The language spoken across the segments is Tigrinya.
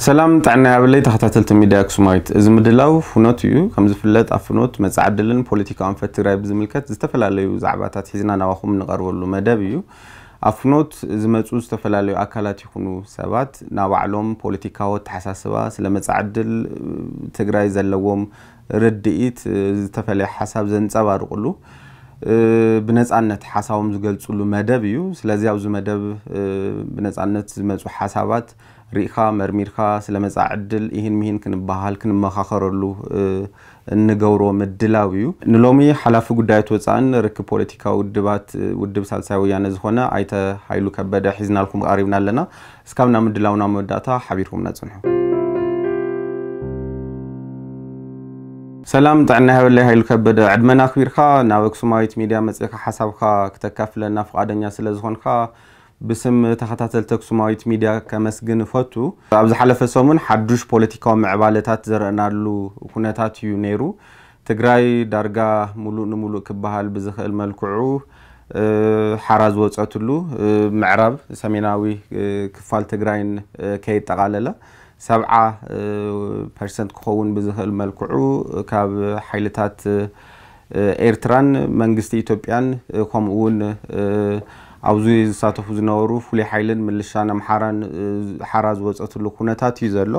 ሰላም ጥዕና ያብለይ ተኸታተልቲ ሚድያ ኣክሱማዊት። እዚ ምድላው ፍኖት እዩ። ከም ዝፍለጥ ኣብ ፍኖት መጻዕድልን ፖለቲካዊ ኣንፈት ትግራይ ብዝምልከት ዝተፈላለዩ ዛዕባታት ሒዝና ናባኹም እንቐርበሉ መደብ እዩ። ኣብ ፍኖት ዝመጹ ዝተፈላለዩ ኣካላት ይኹኑ ሰባት ናባዕሎም ፖለቲካዊ ኣተሓሳስባ፣ ስለ መጻዕድል ትግራይ ዘለዎም ርድኢት፣ ዝተፈለየ ሓሳብ ዘንጸባርቑሉ፣ ብነጻነት ሓሳቦም ዝገልጹሉ መደብ እዩ። ስለዚ ኣብዚ መደብ ብነጻነት ዝመጹ ሓሳባት ርኢኻ መርሚርካ ስለ መጻኢ ዕድል ኢሂን ሚሂን ክንበሃል ክንመኻኸረሉ እንገብሮ ምድላው እዩ። ንሎሚ ሓላፊ ጉዳያት ወጻእን ርክብ ፖለቲካዊ ውድባት ውድብ ሳልሳይ ወያነ ዝኾነ ኣይተ ሃይሉ ከበደ ሒዝናልኩም ቀሪብና ኣለና። እስካብ ናብ ምድላውና መወዳእታ ሓቢርኩምና ጽንሑ። ሰላም ጥዕና ይሃበለይ ሃይሉ ከበደ፣ ዕድመና ኣኽቢርካ ናብ ኣክሱማዊት ሚድያ መጺእካ ሓሳብካ ክተካፍለና ፍቓደኛ ስለ ዝኾንካ ብስም ተኸታተልቲ ኣክሱማዊት ሚድያ ከመስግን እፈቱ። ኣብ ዝሓለፈ ሰሙን ሓዱሽ ፖለቲካዊ ምዕባለታት ዘረእናሉ ኩነታት እዩ ነይሩ። ትግራይ ዳርጋ ሙሉእ ንሙሉእ ክበሃል ብዝኽእል መልክዑ ሓራ ዝወፀትሉ፣ ምዕራብ ሰሜናዊ ክፋል ትግራይን ከየጠቓለለ ሰብዓ ፐርሰንት ክኸውን ብዝኽእል መልክዑ ካብ ሓይልታት ኤርትራን መንግስቲ ኢትዮጵያን ከምኡ እውን ኣብዚ ዝሳተፉ ዝነበሩ ፍሉይ ሓይልን ምልሻን ኣምሓራን ሓራ ዝወፀትሉ ኩነታት እዩ ዘሎ።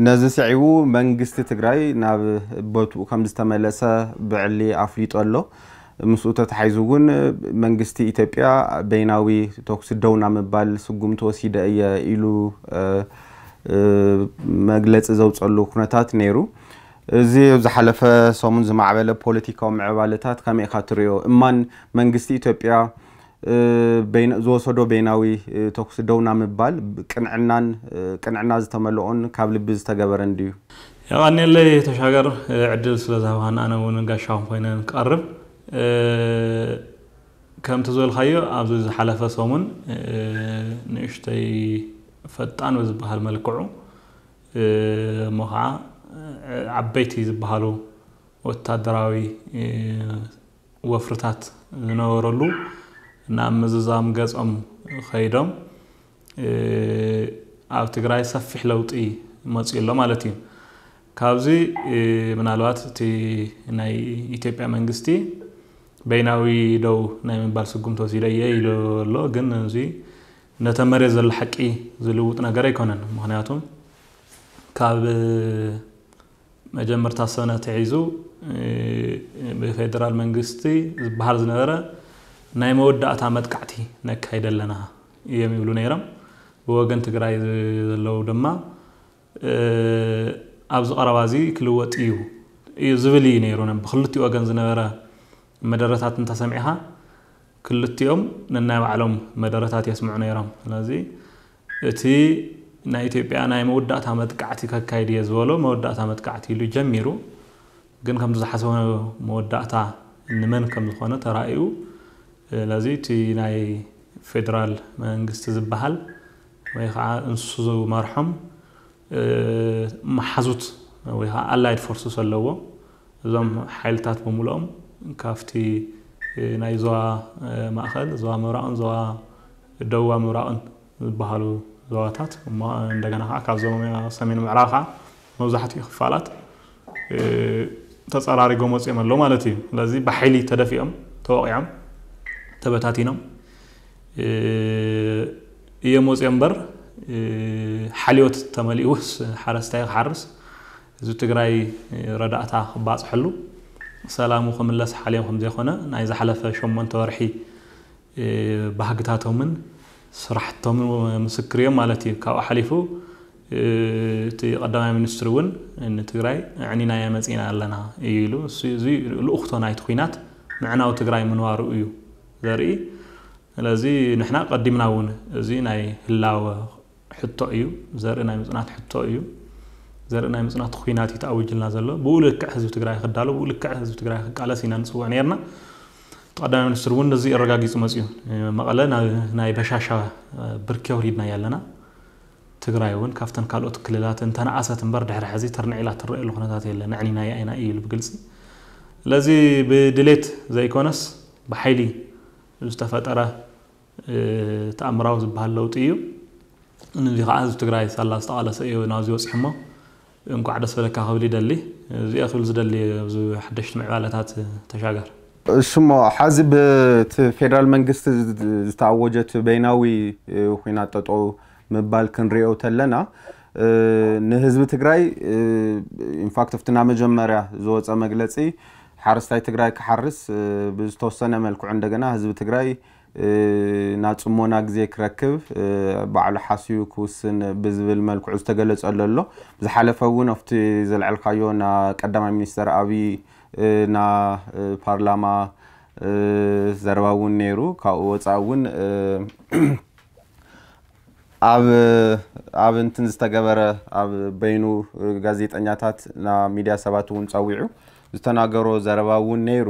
ነዚ ስዒቡ መንግስቲ ትግራይ ናብ ቦትኡ ከም ዝተመለሰ ብዕሊ ኣፍሊጡ ኣሎ። ምስኡ ተታሒዙ እውን መንግስቲ ኢትዮጵያ በይናዊ ተኩሲ ደው ናብ ምባል ስጉምቲ ወሲደ እየ ኢሉ መግለፂ ዘውፀሉ ኩነታት ነይሩ። እዚ ኣብ ዝሓለፈ ሰሙን ዝማዕበለ ፖለቲካዊ ምዕባለታት ከመይ ኢኻ ትሪኦ? እማን መንግስቲ ኢትዮጵያ ዝወሰዶ በይናዊ ተኩሲ ደው ናብ ምባል ቅንዕናን ቅንዕና ዝተመልኦን ካብ ልቢ ዝተገበረን ድዩ? የቐንየለይ ተሻገር፣ ዕድል ስለ ዝሃብኻና ኣነ እውን ጋሻኹም ኮይነ ክቐርብ። ከምቲ ዝበልካዮ ኣብዚ ዝሓለፈ ሰሙን ንእሽተይ ፈጣን ብዝበሃል መልክዑ እሞ ከዓ ዓበይቲ ዝበሃሉ ወታደራዊ ወፍርታት ዝነበረሉ ናብ ምዝዛም ገጾም ከይዶም ኣብ ትግራይ ሰፊሕ ለውጢ መፅኡ ኣሎ ማለት እዩ። ካብዚ ምናልባት እቲ ናይ ኢትዮጵያ መንግስቲ በይናዊ ደው ናይ ምባል ስጉምቲ ወሲደ እየ ኢሉ ኣሎ። ግን እዚ ነተ መሬት ዘሎ ሓቂ ዝልውጥ ነገር ኣይኮነን። ምክንያቱ ካብ መጀመርታ ሰነ ተሒዙ ብፌደራል መንግስቲ ዝበሃል ዝነበረ ናይ መወዳእታ መጥቃዕቲ ነካይድ ኣለና እዮም ይብሉ ነይሮም። ብወገን ትግራይ ዘለዉ ድማ ኣብዚ ቀረባ እዚ ክልወጥ እዩ እዩ ዝብል እዩ ነይሩ። ብክልቲኡ ወገን ዝነበረ መደረታት እንተሰሚዕኻ ክልቲኦም ነናይ ባዕሎም መደረታት የስምዑ ነይሮም። ስለዚ እቲ ናይ ኢትዮጵያ ናይ መወዳእታ መጥቃዕቲ ከካይድ እየ ዝበሎ መወዳእታ መጥቃዕቲ ኢሉ ጀሚሩ፣ ግን ከምቲ ዝሓሰቦ መወዳእታ ንመን ከም ዝኾነ ተራእዩ። ስለዚ እቲ ናይ ፌደራል መንግስቲ ዝበሃል ወይ ከዓ እንሱ ዝመርሖም መሓዙት ወይ ከዓ ኣላይድ ፎርስስ ኣለዎ። እዞም ሓይልታት ብምልኦም ካብቲ ናይ ዞባ ማእኸል፣ ዞባ ምብራቕን ዞባ ደቡባ ምብራቕን ዝበሃሉ ዞባታት እሞ እንደገና ከዓ ካብ ዞባ ሰሜን ምዕራብ ከዓ መብዛሕትኡ ክፋላት ተፀራሪጎ መፅኦም ኣለዉ ማለት እዩ። ስለዚ ብሓይሊ ተደፊኦም፣ ተወቂዖም፣ ተበታቲኖም እዮም ወፂኦም እምበር ሓልዮት ተመሊኡስ ሓረስታይ ክሓርስ ህዝቢ ትግራይ ረዳእታ ክባፅሐሉ ሰላሙ ክምለስ ሓልዮም ከምዘይኮነ ናይ ዝሓለፈ ሸሞንተ ወርሒ ባህግታቶምን ስራሕቶምን ምስክር እዮም ማለት እዩ። ካብኡ ሓሊፉ እቲ ቀዳማይ ሚኒስትር እውን ንትግራይ ኣዕኒናያ መፂና ኣለና እዩ ኢሉ። እዚ ልኡኽቶ ናይቲ ኲናት ምዕናው ትግራይ ምንባሩ እዩ ዘርኢ። ስለዚ ንሕና ቀዲምና እውን እዚ ናይ ህላወ ሕቶ እዩ፣ ዘርኢ ናይ ምፅናት ሕቶ እዩ። ዘርኢ ናይ ምፅናት ኲናት እዩ ተኣዊጅልና ዘሎ። ብኡ ልክዕ ህዝቢ ትግራይ ክዳሎ፣ ብኡ ልክዕ ህዝቢ ትግራይ ክቃለስ ኢና ንፅውዕ ነርና። ቀዳማይ ሚኒስትር እውን ነዚ ኣረጋጊፁ መፅኡ። መቐለ ናይ በሻሻ ብርኪ ኣውሪድናያ ኣለና። ትግራይ እውን ካብተን ካልኦት ክልላት እንተነኣሰት እምበር ድሕሪ ሕዚ ተርንዒላ ትረአየሉ ኩነታት የለን። ኣዕኒናያ ኢና እዩ ኢሉ ብግልፂ። ስለዚ ብድሌት ዘይኮነስ ብሓይሊ ዝተፈጠረ ተኣምራዊ ዝበሃል ለውጢ እዩ። ንዚ ከዓ ህዝቢ ትግራይ ሳላ ዝተቓለሰ እዩ ናብዚ ወፂሑ እሞ እንኳዕ ደስ በለካ ክብል ይደሊ። እዚኦ ክብል ዝደሊ ኣብዚ ሓደሽቲ ምዕባለታት ተሻገር። እሽሞ ሓዚ ብቲ ፌደራል መንግስቲ ዝተኣወጀት በይናዊ ኩናት ጠጠው ምባል ክንሪኦ ተለና ንህዝቢ ትግራይ ኢንፋክት ኣብቲ ና መጀመርያ ዝወፀ መግለፂ ሓረስታይ ትግራይ ክሓርስ ብዝተወሰነ መልክዑ እንደገና ህዝቢ ትግራይ ናብ ፅሞና ግዜ ክረክብ ባዕሉ ሓስዩ ክውስን ብዝብል መልክዑ ዝተገለፀሉ ኣሎ። ብዝሓለፈ እውን ኣብቲ ዘልዐልካዮ ና ቀዳማይ ሚኒስተር ኣብይ ና ፓርላማ ዘረባ እውን ነይሩ። ካብኡ ወፃኢ እውን ኣብ ኣብ እንትን ዝተገበረ ኣብ በይኑ ጋዜጠኛታት ና ሚድያ ሰባት እውን ፀዊዑ ዝተናገሮ ዘረባ እውን ነይሩ።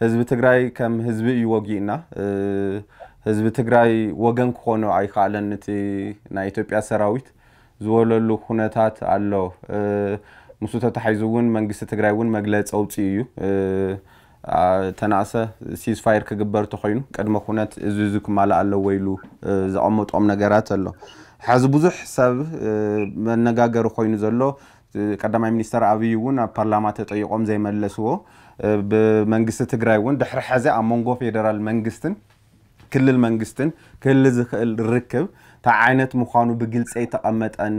ህዝቢ ትግራይ ከም ህዝቢ እዩ ወጊእና። ህዝቢ ትግራይ ወገን ክኾኖ ኣይከኣለን። እቲ ናይ ኢትዮጵያ ሰራዊት ዝወለሉ ኩነታት ኣሎ። ምስ ተታሒዙ እውን መንግስቲ ትግራይ እውን መግለፂ ኣውፅኡ እዩ። ተናእሰ ሲዝፋየር ክግበር ተኮይኑ ቅድመ ኩነት እዚ እዚ ክማላእ ኣለዎ ኢሉ ዘቐመጦም ነገራት ኣሎ። ሕዚ ብዙሕ ሰብ መነጋገሪ ኮይኑ ዘሎ ቀዳማይ ሚኒስተር ኣብይ እውን ኣብ ፓርላማ ተጠይቆም ዘይመለስዎ ብመንግስቲ ትግራይ እውን ድሕሪ ሕዚ ኣብ መንጎ ፌደራል መንግስትን ክልል መንግስትን ክህሊ ዝኽእል ርክብ እንታይ ዓይነት ምዃኑ ብግልፂ ኣይተቐመጠን።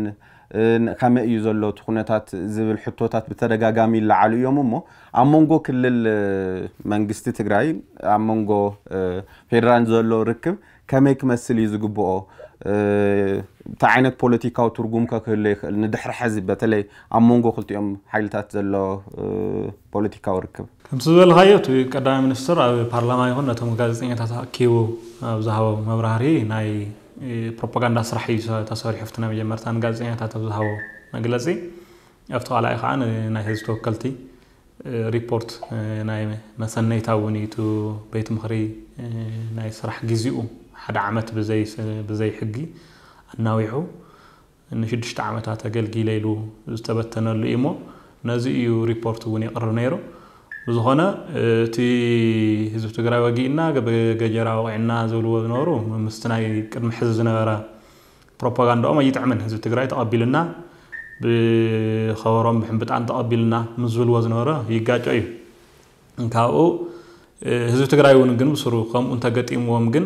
ከመይ እዩ ዘሎ እቲ ኩነታት ዝብል ሕቶታት ብተደጋጋሚ ይለዓሉ እዮም። እሞ ኣብ መንጎ ክልል መንግስቲ ትግራይ ኣብ መንጎ ፌደራል ዘሎ ርክብ ከመይ ክመስል እዩ ዝግብኦ? እንታይ ዓይነት ፖለቲካዊ ትርጉም ከ ክህሎ ይኽእል ንድሕሪ ሕዚ በተለይ ኣብ መንጎ ክልቲኦም ሓይልታት ዘሎ ፖለቲካዊ ርክብ? ከምቲ ዝበልካዮ እቲ ቀዳማይ ሚኒስትር ኣብ ፓርላማ ይኹን ነቶም ጋዜጠኛታት ኣኪቡ ኣብ ዝሃቦ መብራህርሂ ናይ ፕሮፓጋንዳ ስራሕ እዩ ተሰሪሑ ኣብቲ ናይ መጀመርታ ንጋዜጠኛታት ኣብ ዝሃቦ መግለፂ ኣብቲ ካልኣይ ከዓ ናይ ህዝቢ ተወከልቲ ሪፖርት ናይ መሰነይታ እውን እዩ እቲ ቤት ምኽሪ ናይ ስራሕ ግዚኡ ሓደ ዓመት ብዘይ ሕጊ ኣናዊሑ ንሽዱሽተ ዓመታት ኣገልጊለ ኢሉ ዝተበተነሉ እዩ እሞ ነዚ እዩ ሪፖርት እውን የቕርብ ነይሩ። ብዝኾነ እቲ ህዝቢ ትግራይ ወጊእና ብገጀራ ወቒዕና ዝብልዎ ዝነበሩ ምስቲ ናይ ቅድሚ ሕዚ ዝነበረ ፕሮፓጋንዳኦም ኣይጥዕምን። ህዝቢ ትግራይ ተቐቢልና ብኸበሮም ብሕምብጣን ተቐቢልና ምስ ዝብልዎ ዝነበረ ይጋጮ እዩ። ካብኡ ህዝቢ ትግራይ እውን ግን ብስሩ ከምኡ እንተገጢምዎም ግን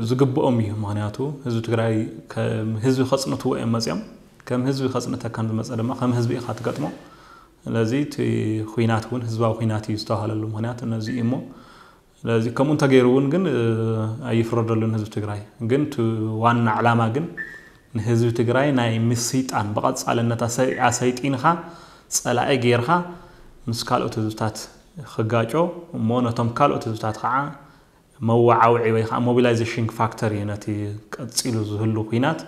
ዝግብኦም እዩ። ምክንያቱ ህዝቢ ትግራይ ከም ህዝቢ ከፅንትዎ እዮም መፅኦም። ከም ህዝቢ ከፅንተካ ዝመፀ ድማ ከም ህዝቢ ኢካ ትገጥሞ። ስለዚ እቲ ኩናት እውን ህዝባዊ ኩናት እዩ ዝተባሃለሉ ምክንያት ነዚ እዩ እሞ ስለዚ ከምኡ እንተገይሩ እውን ግን ኣይፍረደሉን ህዝቢ ትግራይ። ግን እቲ ዋና ዕላማ ግን ንህዝቢ ትግራይ ናይ ምስይጣን ብቐፃልነት ኣሰይጢንካ ፀላኢ ገይርካ ምስ ካልኦት ህዝብታት ክጋጮ እሞ ነቶም ካልኦት ህዝብታት ከዓ መወዓውዒ ወይ ከዓ ሞቢላይዜሽን ፋክተር እዩ ነቲ ቀፂሉ ዝህሉ ኩናት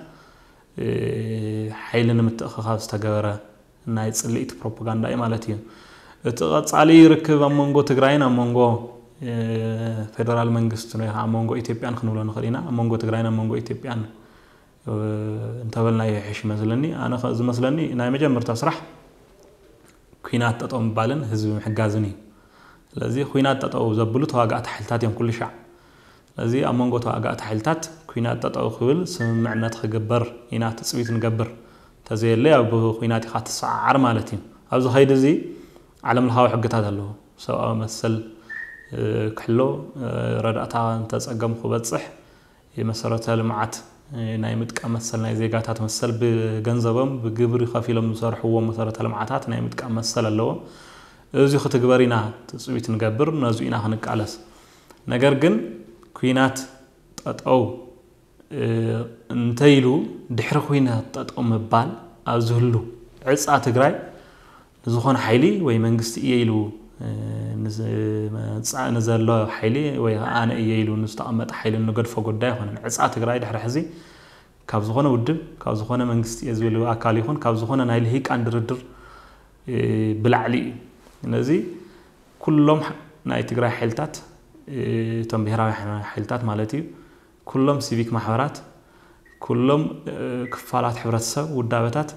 ሓይሊ ንምትእኽኻብ ዝተገበረ ናይ ፅልኢት ፕሮፓጋንዳ እዩ ማለት እዩ። እቲ ቀፃሊ ርክብ ኣብ መንጎ ትግራይን ኣብ መንጎ ፌደራል መንግስትን ወይ ከዓ ኣብ መንጎ ኢትዮጵያን ክንብሎ ንኽእል ኢና። ኣብ መንጎ ትግራይን ኣብ መንጎ ኢትዮጵያን እንተበልናዮ ይሕሽ ይመስለኒ። ኣነ ዝመስለኒ ናይ መጀመርታ ስራሕ ኩናት ጠጠው ምባልን ህዝቢ ምሕጋዝን እዩ። ስለዚ ኩናት ጠጠው ዘብሉ ተዋጋእቲ ሓይልታት እዮም ኩሉ ሻዕ። ስለዚ ኣብ መንጎ ተዋጋእቲ ሓይልታት ኩናት ጠጠው ክብል ስምምዕነት ክግበር ኢና ትፅቢት ንገብር። እንተዘየለ ኣብ ኩናት ኢኻ ትሰዓዓር ማለት እዩ። ኣብዚ ከይዲ እዚ ዓለም ለኻዊ ሕግታት ኣለዎ። ሰብኣዊ መሰል ክሕሎ፣ ረዳእታ እንተፀገም ክበፅሕ፣ የመሰረተ ልምዓት ናይ ምጥቃም መሰል ናይ ዜጋታት መሰል ብገንዘቦም ብግብሪ ከፊሎም ዝሰርሕዎ መሰረተ ልምዓታት ናይ ምጥቃም መሰል ኣለዎም። እዚ ክትግበር ኢና ትፅቢት ንገብር፣ ነዚ ኢና ክንቃለስ። ነገር ግን ኩናት ጠጠው እንተይሉ ድሕሪ ኩናት ጠጠው ምባል ኣብ ዝህሉ ዕፃ ትግራይ ንዝኾነ ሓይሊ ወይ መንግስቲ እየ ኢሉ ንዝመፅእ ንዘሎ ሓይሊ ወይ ኣነ እየ ኢሉ ንዝተቐመጠ ሓይሊ ንገድፎ ጉዳይ ኣይኮነን። ዕፃ ትግራይ ድሕሪ ሕዚ ካብ ዝኾነ ውድብ ካብ ዝኾነ መንግስቲ እየ ዝብል ኣካል ይኹን ካብ ዝኾነ ናይ ልሂቃን ድርድር ብላዕሊ እዩ። ስለዚ ኩሎም ናይ ትግራይ ሓይልታት እቶም ብሄራዊ ሓይልታት ማለት እዩ ኩሎም ሲቪክ ማሕበራት ኩሎም ክፋላት ሕብረተሰብ ውዳበታት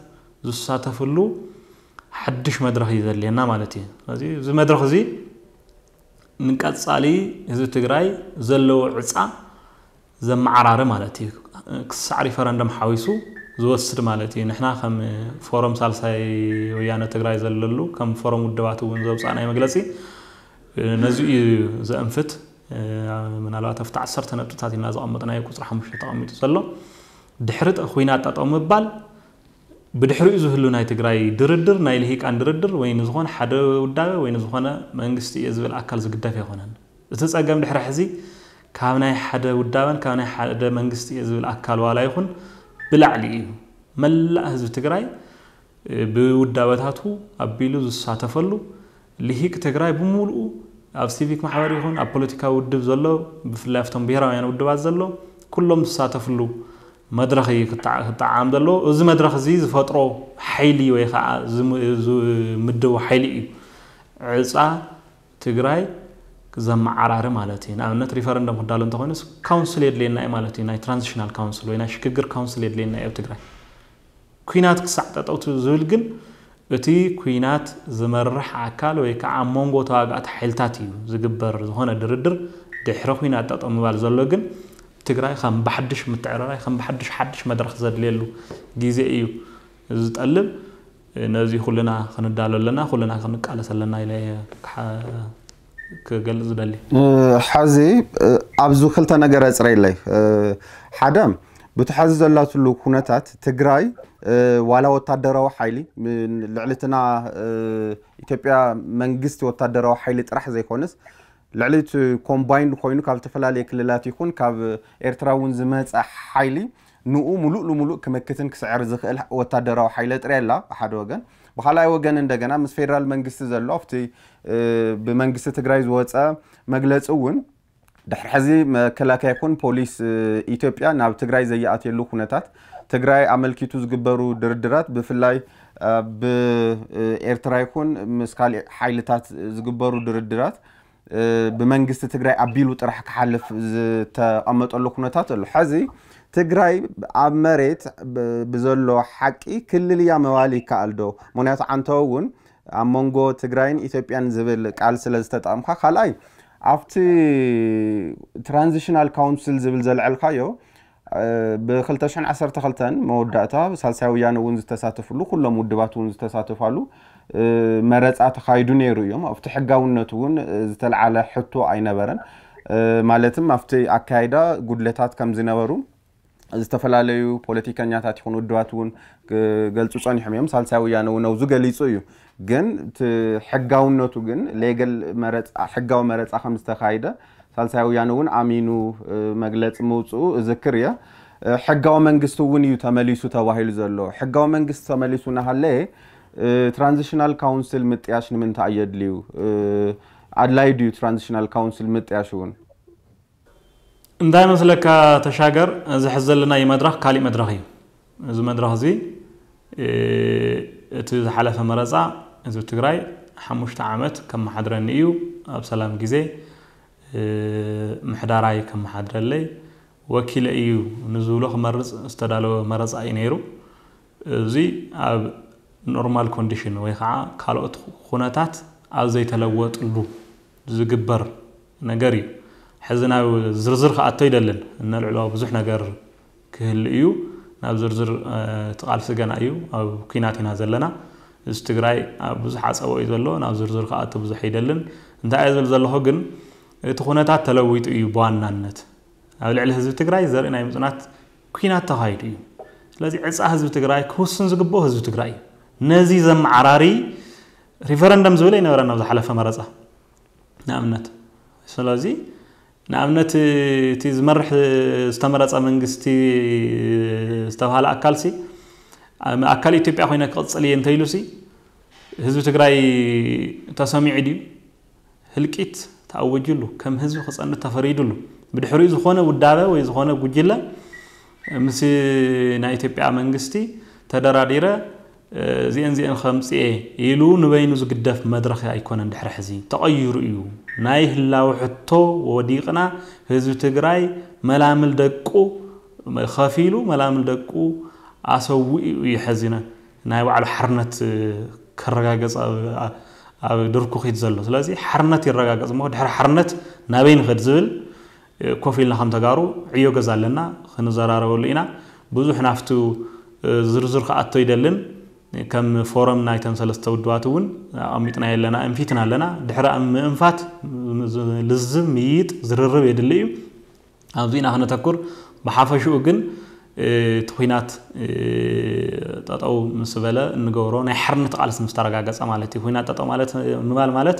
ዝሳተፍሉ ሓድሽ መድረኽ እዩ ዘድልየና ማለት እዩ። ስለዚ እዚ መድረኽ እዚ ንቀፃሊ ህዝቢ ትግራይ ዘለዎ ዕፃ ዘመዓራሪ ማለት እዩ። ክሳዕ ሪፈረንደም ሓዊሱ ዝወስድ ማለት እዩ። ንሕና ከም ፎረም ሳልሳይ ወያነ ትግራይ ዘለሉ ከም ፎረም ውድባት እውን ዘውፃእናይ መግለፂ ነዚ እዩ ዘእንፍት። ምናልባት ኣብቲ ዓሰርተ ነጥብታት ኢና ዘቐመጥናዮ ቁፅሪ ሓሙሽተ ተቐሚጡ ዘሎ ድሕሪ ኩናት ጠጠው ምባል ብድሕሪኡ ዝህሉ ናይ ትግራይ ድርድር ናይ ልሂቃን ድርድር ወይ ንዝኾነ ሓደ ውዳበ ወይ ንዝኾነ መንግስቲ እየ ዝብል ኣካል ዝግደፍ ኣይኮነን። እቲ ፀገም ድሕሪ ሕዚ ካብ ናይ ሓደ ውዳበን ካብ ናይ ሓደ መንግስቲ እየ ዝብል ኣካል ዋላ ይኹን ብላዕሊ እዩ። መላእ ህዝቢ ትግራይ ብውዳበታቱ ኣቢሉ ዝሳተፈሉ ልሂቅ ትግራይ ብምሉኡ ኣብ ሲቪክ ማሕበር ይኹን ኣብ ፖለቲካዊ ውድብ ዘሎ ብፍላይ ኣብቶም ብሄራውያን ውድባት ዘሎ ኩሎም ዝሳተፍሉ መድረኽ እዩ ክጣዓም ዘለዎ። እዚ መድረኽ እዚ ዝፈጥሮ ሓይሊ ወይ ከዓ ዝምድቡ ሓይሊ እዩ ዕፃ ትግራይ ዘመዓራሪ ማለት እዩ። ንኣብነት ሪፈረንደም ክዳሎ እንተኮይኑስ ካውንስል የድልየና እዩ ማለት እዩ። ናይ ትራንዚሽናል ካውንስል ወይ ናይ ሽግግር ካውንስል የድልየና እዩ ኣብ ትግራይ። ኩናት ክሳዕ ጠጠውቱ ዝብል ግን እቲ ኩናት ዝመርሕ ኣካል ወይ ከዓ ኣብ መንጎ ተዋጋእቲ ሓይልታት እዩ ዝግበር ዝኾነ ድርድር። ድሕሪ ኩናት ጠጠው ምባል ዘሎ ግን ትግራይ ከም ብሓድሽ ምትዕርራይ ከም ብሓድሽ ሓድሽ መድረኽ ዘድልየሉ ግዜ እዩ ዝጠልብ። ነዚ ኩልና ክንዳሎ ኣለና፣ ኩልና ክንቃለስ ኣለና ኢለ ክገልፅ ዝደሊ። ሓዚ ኣብዚ ክልተ ነገር ኣፅረይለይ። ሓደ ብቲ ሓዚ ዘላትሉ ኩነታት ትግራይ ዋላ ወታደራዊ ሓይሊ ልዕልትና ኢትዮጵያ መንግስቲ ወታደራዊ ሓይሊ ጥራሕ ዘይኮነስ ልዕሊ እቲ ኮምባይንድ ኮይኑ ካብ ዝተፈላለየ ክልላት ይኹን ካብ ኤርትራ እውን ዝመፀ ሓይሊ ንኡ ሙሉእ ልሙሉእ ክመክትን ክስዕር ዝኽእል ወታደራዊ ሓይለ ጥርያ ኣላ ብሓደ ወገን። ብካልኣይ ወገን እንደገና ምስ ፌደራል መንግስቲ ዘሎ ኣብቲ ብመንግስቲ ትግራይ ዝወፀ መግለፂ እውን ድሕሪ ሕዚ መከላከያ ይኹን ፖሊስ ኢትዮጵያ ናብ ትግራይ ዘይኣትየሉ ኩነታት ትግራይ ኣመልኪቱ ዝግበሩ ድርድራት ብፍላይ ብኤርትራ ይኹን ምስ ካሊእ ሓይልታት ዝግበሩ ድርድራት ብመንግስቲ ትግራይ ኣቢሉ ጥራሕ ክሓልፍ ዝተቐመጠሉ ኩነታት ኣሎ። ሕዚ ትግራይ ኣብ መሬት ብዘሎ ሓቂ ክልል እያ ምባል ይከኣል ዶ? ምክንያቱ ዓንተው እውን ኣብ መንጎ ትግራይን ኢትዮጵያን ዝብል ቃል ስለ ዝተጠቐምካ፣ ካልኣይ ኣብቲ ትራንዚሽናል ካውንስል ዝብል ዘልዐልካዮ ብ2012 መወዳእታ ሳልሳይ ወያነ እውን ዝተሳተፍሉ ኩሎም ውድባት እውን ዝተሳተፋሉ መረፃ ተኻይዱ ነይሩ እዮም። ኣብቲ ሕጋውነት እውን ዝተልዓለ ሕቶ ኣይነበረን። ማለትም ኣብቲ ኣካይዳ ጉድለታት ከም ዝነበሩ ዝተፈላለዩ ፖለቲከኛታት ይኹን ውድባት እውን ክገልፁ ፀኒሖም እዮም። ሳልሳይ ወያነ እውን ኣብዚ ገሊፁ እዩ። ግን እቲ ሕጋውነቱ ግን ሌገል መረፃ ሕጋዊ መረፃ ከም ዝተኻይደ ሳልሳይ ወያነ እውን ኣሚኑ መግለፂ ምውፅኡ እዝክር እየ። ሕጋዊ መንግስቲ እውን እዩ ተመሊሱ ተባሂሉ ዘሎ። ሕጋዊ መንግስቲ ተመሊሱ እናሃለየ ትራንዚሽናል ካውንስል ምጥያሽ ንምንታይ የድልዩ? ኣድላይ ድዩ ትራንዚሽናል ካውንስል ምጥያሽ እውን? እንታይ መስለካ ተሻገር፣ እዚ ሕዚ ዘለናዮ መድረኽ ካሊእ መድረኽ እዩ። እዚ መድረኽ እዚ እቲ ዝሓለፈ መረፃ ህዝቢ ትግራይ ሓሙሽተ ዓመት ከመሓድረኒ እዩ፣ ኣብ ሰላም ግዜ ምሕዳራይ ከመሓድረለይ ወኪለ እዩ ንዝብሎ ክመርፅ ዝተዳለወ መረፃ እዩ ነይሩ። እዚ ኣብ ኖርማል ኮንዲሽን ወይ ከዓ ካልኦት ኩነታት ኣብ ዘይተለወጥሉ ዝግበር ነገር እዩ። ሕዚ ናብ ዝርዝር ክኣቶ ይደልን፣ እነልዕሎ ብዙሕ ነገር ክህሉ እዩ። ናብ ዝርዝር እቲ ቃልሲ ገና እዩ፣ ኣብ ኩናት ኢና ዘለና። እዚ ትግራይ ኣብ ብዙሕ ዓፀቦ እዩ ዘሎ፣ ናብ ዝርዝር ክኣቶ ብዙሕ ይደልን። እንታይ እየ ዝብል ዘለኹ ግን እቲ ኩነታት ተለዊጡ እዩ ብዋናነት ኣብ ልዕሊ ህዝቢ ትግራይ ዘርኢ ናይ ምፅናት ኩናት ተኻይዱ እዩ። ስለዚ ዕፃ ህዝቢ ትግራይ ክውስን ዝግብኦ ህዝቢ ትግራይ እዩ። ነዚ ዘመዓራሪ ሪፈረንደም ዝብል ኣይነበረን ኣብ ዝሓለፈ መረፃ። ንኣብነት ስለዚ ንኣብነት እቲ ዝመርሕ ዝተመረፀ መንግስቲ ዝተባሃለ ኣካልሲ ኣካል ኢትዮጵያ ኮይነ ክቕፅል እየ እንተኢሉሲ ህዝቢ ትግራይ ተሰሚዑ ድዩ? ህልቂት ተኣወጅሉ ከም ህዝቢ ክፀንት ተፈሪድሉ ብድሕሪኡ ዝኾነ ውዳበ ወይ ዝኾነ ጉጅለ ምስ ናይ ኢትዮጵያ መንግስቲ ተደራዲረ እዚአን እዚአን ከምፅኤ ኢሉ ንበይኑ ዝግደፍ መድረኽ ኣይኮነን። ድሕሪ ሕዚ ተቐይሩ እዩ። ናይ ህላዊ ሕቶ ወዲቕና ህዝቢ ትግራይ መላምል ደቁ ከፊሉ መላምል ደቁ ኣሰዊኡ እዩ። ሕዚ ናይ ባዕሉ ሓርነት ከረጋገፅ ኣብ ድርኩኺት ዘሎ። ስለዚ ሓርነት ይረጋገፅ እሞ ድሕሪ ሓርነት ናበይ ንኸድ ዝብል ኮፍ ኢልና ከም ተጋሩ ዕዮ ገዛ ኣለና፣ ክንዘራረበሉ ኢና። ብዙሕ ናፍቱ ዝርዝር ክኣቶ ይደልን። ከም ፎረም ናይተን ሰለስተ ውድባት እውን ኣቐሚጥና ኣለና፣ እንፊትና ኣለና። ድሕሪ ኣብ ምእንፋት ልዝብ፣ ምይይጥ፣ ዝርርብ የድሊ እዩ። ኣብዚ ኢና ክነተኩር። ብሓፈሽኡ ግን እቲ ኩናት ጠጠው ምስ በለ እንገብሮ ናይ ሓርነት ቃልሲ ምስ ተረጋገጸ ማለት እዩ። ኩናት ጠጠው ማለት ምባል ማለት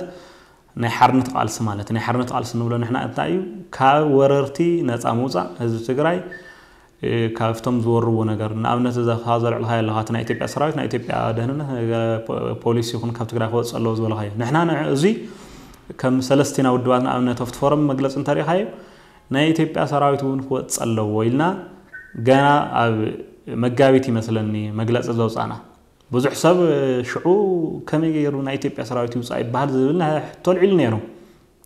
ናይ ሓርነት ቃልሲ ማለት፣ ናይ ሓርነት ቃልሲ እንብሎ ንሕና እንታይ እዩ? ካብ ወረርቲ ነፃ ምውፃእ ህዝቢ ትግራይ ካብቶም ዝወርዎ ነገር። ንኣብነት እዛ ዘልዕልካ ኣለካ ናይ ኢትዮጵያ ሰራዊት፣ ናይ ኢትዮጵያ ደህንነት ፖሊስ ይኹን ካብ ትግራይ ክወፅእ ኣለዎ ዝበልካዮ፣ ንሕና እዚ ከም ሰለስቲና ውድባት ንኣብነት ኣብቲ ፎረም መግለፂ እንተሪኢካዮ ናይ ኢትዮጵያ ሰራዊት እውን ክወፅእ ኣለዎ ኢልና ገና ኣብ መጋቢት ይመስለኒ መግለፂ ዘውፃና። ብዙሕ ሰብ ሽዑ ከመይ ገይሩ ናይ ኢትዮጵያ ሰራዊት ይውፃእ ይበሃል ዝብል ሕቶ ኣልዒሉ ነይሩ።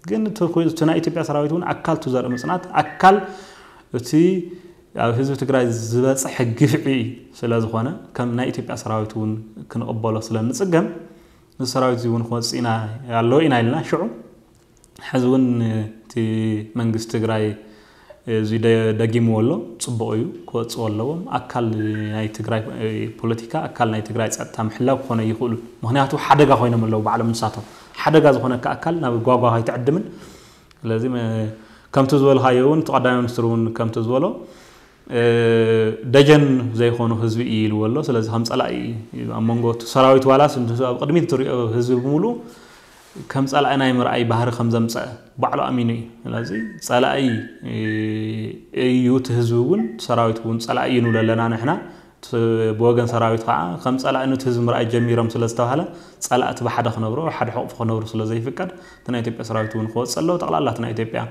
ግን እቲ ናይ ኢትዮጵያ ሰራዊት እውን ኣካል እቲ ዘርኢ ምፅናት ኣካል እቲ ኣብ ህዝቢ ትግራይ ዝበፅሐ ግፍዒ ስለ ዝኾነ ከም ናይ ኢትዮጵያ ሰራዊት እውን ክንቕበሎ ስለ ንፅገም እዚ ሰራዊት እዚ እውን ክወፅእ ኢና ኣለዎ ኢና ኢልና ሽዑ ሕዚ እውን እቲ መንግስቲ ትግራይ እዚ ደጊምዎ ኣሎ። ፅቡቕ እዩ፣ ክወፅዎ ኣለዎም። ኣካል ናይ ትግራይ ፖለቲካ፣ ኣካል ናይ ትግራይ ፀጥታ ምሕላው ክኾነ ይኽእሉ። ምክንያቱ ሓደጋ ኮይኖም ኣለዉ ባዕሎም ንሳቶም። ሓደጋ ዝኾነካ ኣካል ናብ ጓጓ ከይትዕድምን። ስለዚ ከምቲ ዝበልካዮ እውን እቲ ቀዳማይ ሚኒስትር እውን ከምቲ ዝበሎ ደጀን ዘይኮኑ ህዝቢ እዩ ኢልዎ ኣሎ። ስለዚ ከም ፀላኢ ኣብ መንጎ እቲ ሰራዊት ዋላስ ኣብ ቅድሚት ትሪኦ ህዝቢ ብምሉእ ከም ጸላኢ ናይ ምርኣይ ባህሪ ከም ዘምጸአ ባዕሉ ኣሚኑ እዩ። ስለዚ ጸላኢ እዩ እቲ ህዝቢ እውን ሰራዊት እውን ጸላኢ እዩ ንብሎ ኣለና ንሕና። ብወገን ሰራዊት ከዓ ከም ጸላኢ ነቲ ህዝቢ ምርኣይ ጀሚሮም ስለ ዝተባሃለ ጸላእቲ ብሓደ ክነብሩ ሓደ ሕቑፊ ክነብሩ ስለ ዘይፍቀድ እቲ ናይ ኢትዮጵያ ሰራዊት እውን ክወፅእ ኣለዎ። ጠቕላላ እቲ ናይ ኢትዮጵያ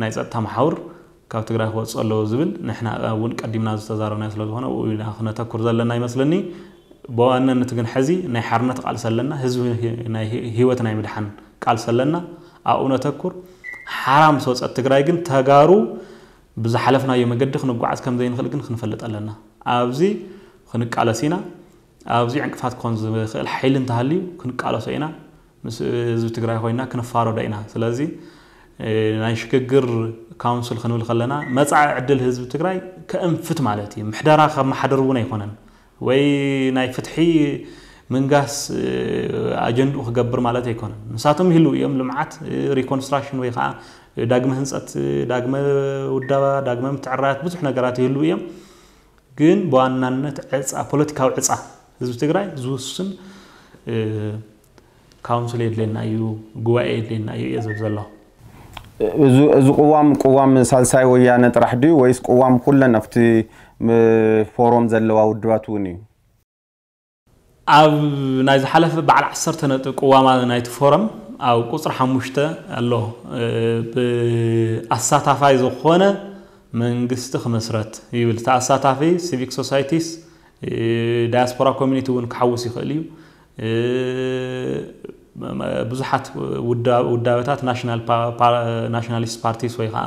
ናይ ጸጥታ መሓውር ካብ ትግራይ ክወፅእ ኣለዎ ዝብል ንሕና እውን ቀዲምና ዝተዛረብናዮ ስለ ዝኾነ ኣብኡ ኢና ክነተኩር ዘለና ይመስለኒ። ብዋናነት ግን ሕዚ ናይ ሓርነት ቃልሲ ኣለና፣ ህዝቢ ናይ ህይወት ናይ ምድሓን ቃልሲ ኣለና፣ ኣብኡ ነተኩር። ሓራ ምስ ወፀት ትግራይ ግን ተጋሩ ብዝሓለፍናዮ መገዲ ክንጓዓዝ ከም ዘይንኽእል ግን ክንፈልጥ ኣለና። ኣብዚ ክንቃለስ ኢና። ኣብዚ ዕንቅፋት ክኾን ዝኽእል ሓይሊ እንተሃልዩ ክንቃለሶ ኢና። ምስ ህዝቢ ትግራይ ኮይና ክንፋረዶ ኢና። ስለዚ ናይ ሽግግር ካውንስል ክንብል ከለና መፃኢ ዕድል ህዝቢ ትግራይ ከእንፍት ማለት እዩ። ምሕደራ ከመሓድር እውን ኣይኮነን ወይ ናይ ፍትሒ ምንጋስ ኣጀንድኡ ክገብር ማለት ኣይኮነን። ንሳቶም ይህልው እዮም። ልምዓት፣ ሪኮንስትራክሽን ወይ ከዓ ዳግመ ህንፀት፣ ዳግመ ውዳባ፣ ዳግመ ምትዕራያት ብዙሕ ነገራት ይህልው እዮም። ግን ብዋናነት ዕፃ፣ ፖለቲካዊ ዕፃ ህዝቢ ትግራይ ዝውስን ካውንስል የድልየና እዩ፣ ጉባኤ የድልየና እዩ እየ ዝብል ዘለኹ። እዚ ቅዋም ቅዋም ሳልሳይ ወያነ ጥራሕ ድዩ ወይስ ቅዋም ኩለን ኣብቲ ፎሮም ዘለዋ ውድባት እውን እዩ? ኣብ ናይ ዝሓለፈ በዓል ዓሰርተ ነጥቢ ቅዋማ ናይቲ ፎረም ኣብ ቁፅሪ ሓሙሽተ ኣሎ። ብኣሳታፋይ ዝኾነ መንግስቲ ክመስረት ይብል። እቲ ኣሳታፊ ሲቪክ ሶሳይቲስ፣ ዳያስፖራ ኮሚኒቲ እውን ክሓውስ ይኽእል እዩ። ብዙሓት ውዳበታት ናሽናሊስት ፓርቲስ ወይ ከዓ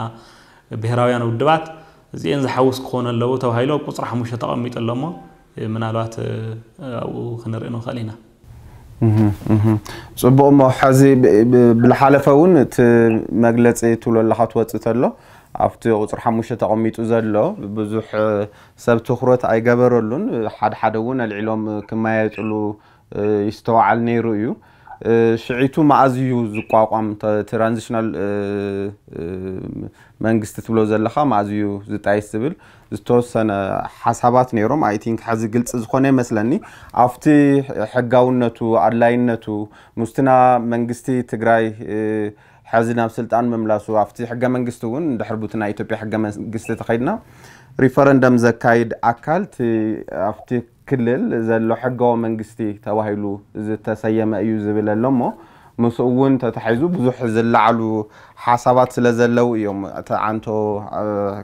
ብሄራውያን ውድባት እዚአን ዝሓውስ ክኾኑ ኣለዎ ተባሂሉ ኣብ ቁፅሪ ሓሙሽተ ተቐሚጡ ኣሎ እሞ ምናልባት ኣብኡ ክንርኢ ንኽእል ኢና። ፅቡቕ እሞ ሕዚ ብልሓለፈ እውን እቲ መግለፂ ትብሎ ኣለኻ ትወፅእ ተሎ ኣብቲ ቁፅሪ ሓሙሽተ ተቐሚጡ ዘሎ ብዙሕ ሰብ ትኩረት ኣይገበረሉን። ሓደ ሓደ እውን ኣልዒሎም ክመያየጥሉ ይስተዋዓል ነይሩ እዩ። ሽዒቱ መኣዝ እዩ ዝቋቋም ትራንዚሽናል መንግስቲ ትብሎ ዘለኻ መኣዝ እዩ ዝጣይስ ዝብል ዝተወሰነ ሓሳባት ነይሮም። ኣይ ቲንክ ሕዚ ግልፂ ዝኾነ ይመስለኒ ኣብቲ ሕጋውነቱ ኣድላይነቱ ምስትና መንግስቲ ትግራይ ሕዚ ናብ ስልጣን ምምላሱ ኣብቲ ሕገ መንግስቲ እውን ድሕር ቡቲ ናይ ኢትዮጵያ ሕገ መንግስቲ ተኸይድና ሪፈረንደም ዘካይድ ኣካል ኣብቲ ክልል ዘሎ ሕጋዊ መንግስቲ ተባሂሉ ዝተሰየመ እዩ ዝብል ኣሎ እሞ ምስኡ እውን ተታሒዙ ብዙሕ ዝለዓሉ ሓሳባት ስለ ዘለዉ እዮም እቲ ዓንቶ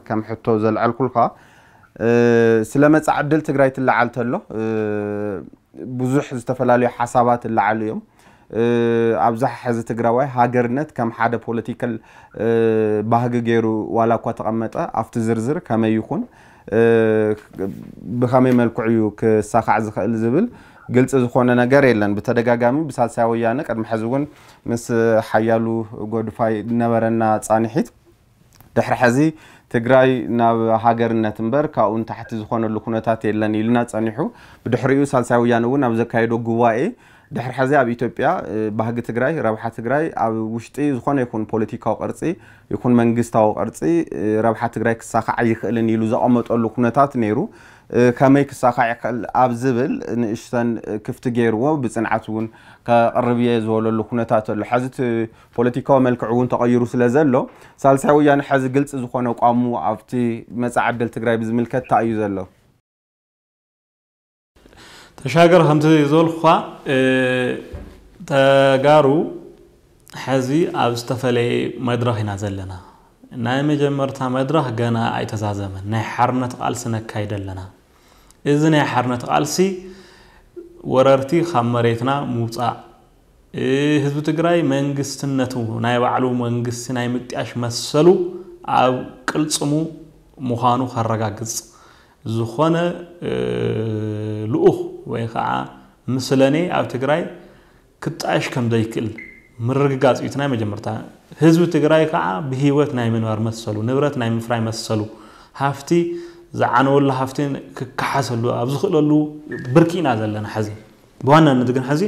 ከም ሕቶ ዘልዐልኩልካ ስለ መፃ ዕድል ትግራይ ትለዓል ተሎ ብዙሕ ዝተፈላለዩ ሓሳባት ይለዓሉ እዮም። ኣብዛ ሕዚ ትግራዋይ ሃገርነት ከም ሓደ ፖለቲካል ባህጊ ገይሩ ዋላ እኳ ተቐመጠ ኣብቲ ዝርዝር ከመይ ይኹን ብኸመይ መልክዑ እዩ ክሳኻዕ ዝኽእል ዝብል ግልፂ ዝኾነ ነገር የለን። ብተደጋጋሚ ብሳልሳይ ወያነ ቅድሚ ሕዚ እውን ምስ ሓያሉ ጎድፋይ ነበረና ፃንሒት ድሕሪ ሕዚ ትግራይ ናብ ሃገርነት እምበር ካብኡ ንታሕቲ ዝኾነሉ ኩነታት የለን ኢሉና ጸኒሑ። ብድሕሪኡ ሳልሳይ ወያነ እውን ኣብ ዘካየዶ ጉባኤ ድሕሪ ሕዚ ኣብ ኢትዮጵያ ባህጊ ትግራይ፣ ረብሓ ትግራይ ኣብ ውሽጢ ዝኾነ ይኹን ፖለቲካዊ ቅርፂ ይኹን መንግስታዊ ቅርፂ ረብሓ ትግራይ ክሳኻዕ ኣይኽእልን ኢሉ ዘቐመጠሉ ኩነታት ነይሩ። ከመይ ክሳኻዕ ይኽእል ኣብ ዝብል ንእሽተን ክፍቲ ገይርዎ ብፅንዓት እውን ከቕርብ እየ ዝበለሉ ኩነታት ኣሎ። ሕዚ እቲ ፖለቲካዊ መልክዕ እውን ተቐይሩ ስለ ዘሎ ሳልሳይ ወያነ ሕዚ ግልፂ ዝኾነ ኣቋሙ ኣብቲ መፃኢ ዕድል ትግራይ ብዝምልከት እንታይ እዩ ዘሎ? ተሻገር ከምቲ ዝበልኩኻ ተጋሩ ሕዚ ኣብ ዝተፈለየ መድረኽ ኢና ዘለና። ናይ መጀመርታ መድረኽ ገና ኣይተዛዘመን። ናይ ሓርነት ቃልሲ ነካይድ ኣለና። እዚ ናይ ሓርነት ቃልሲ ወረርቲ ካብ መሬትና ምውፃእ፣ ህዝቢ ትግራይ መንግስትነቱ ናይ ባዕሉ መንግስቲ ናይ ምጥያሽ መሰሉ ኣብ ቅልፅሙ ምዃኑ ከረጋግፅ ዝኾነ ልኡኽ ወይ ከዓ ምስለኔ ኣብ ትግራይ ክጣየሽ ከም ዘይክእል ምርግጋፅ እዩ እቲ ናይ መጀመርታ። ህዝቢ ትግራይ ከዓ ብህይወት ናይ ምንባር መሰሉ፣ ንብረት ናይ ምፍራይ መሰሉ፣ ሃፍቲ ዝዓነወሉ ሃፍቲ ክከሓሰሉ ኣብ ዝኽእለሉ ብርኪ ኢና ዘለና ሕዚ። ብዋናነት ግን ሕዚ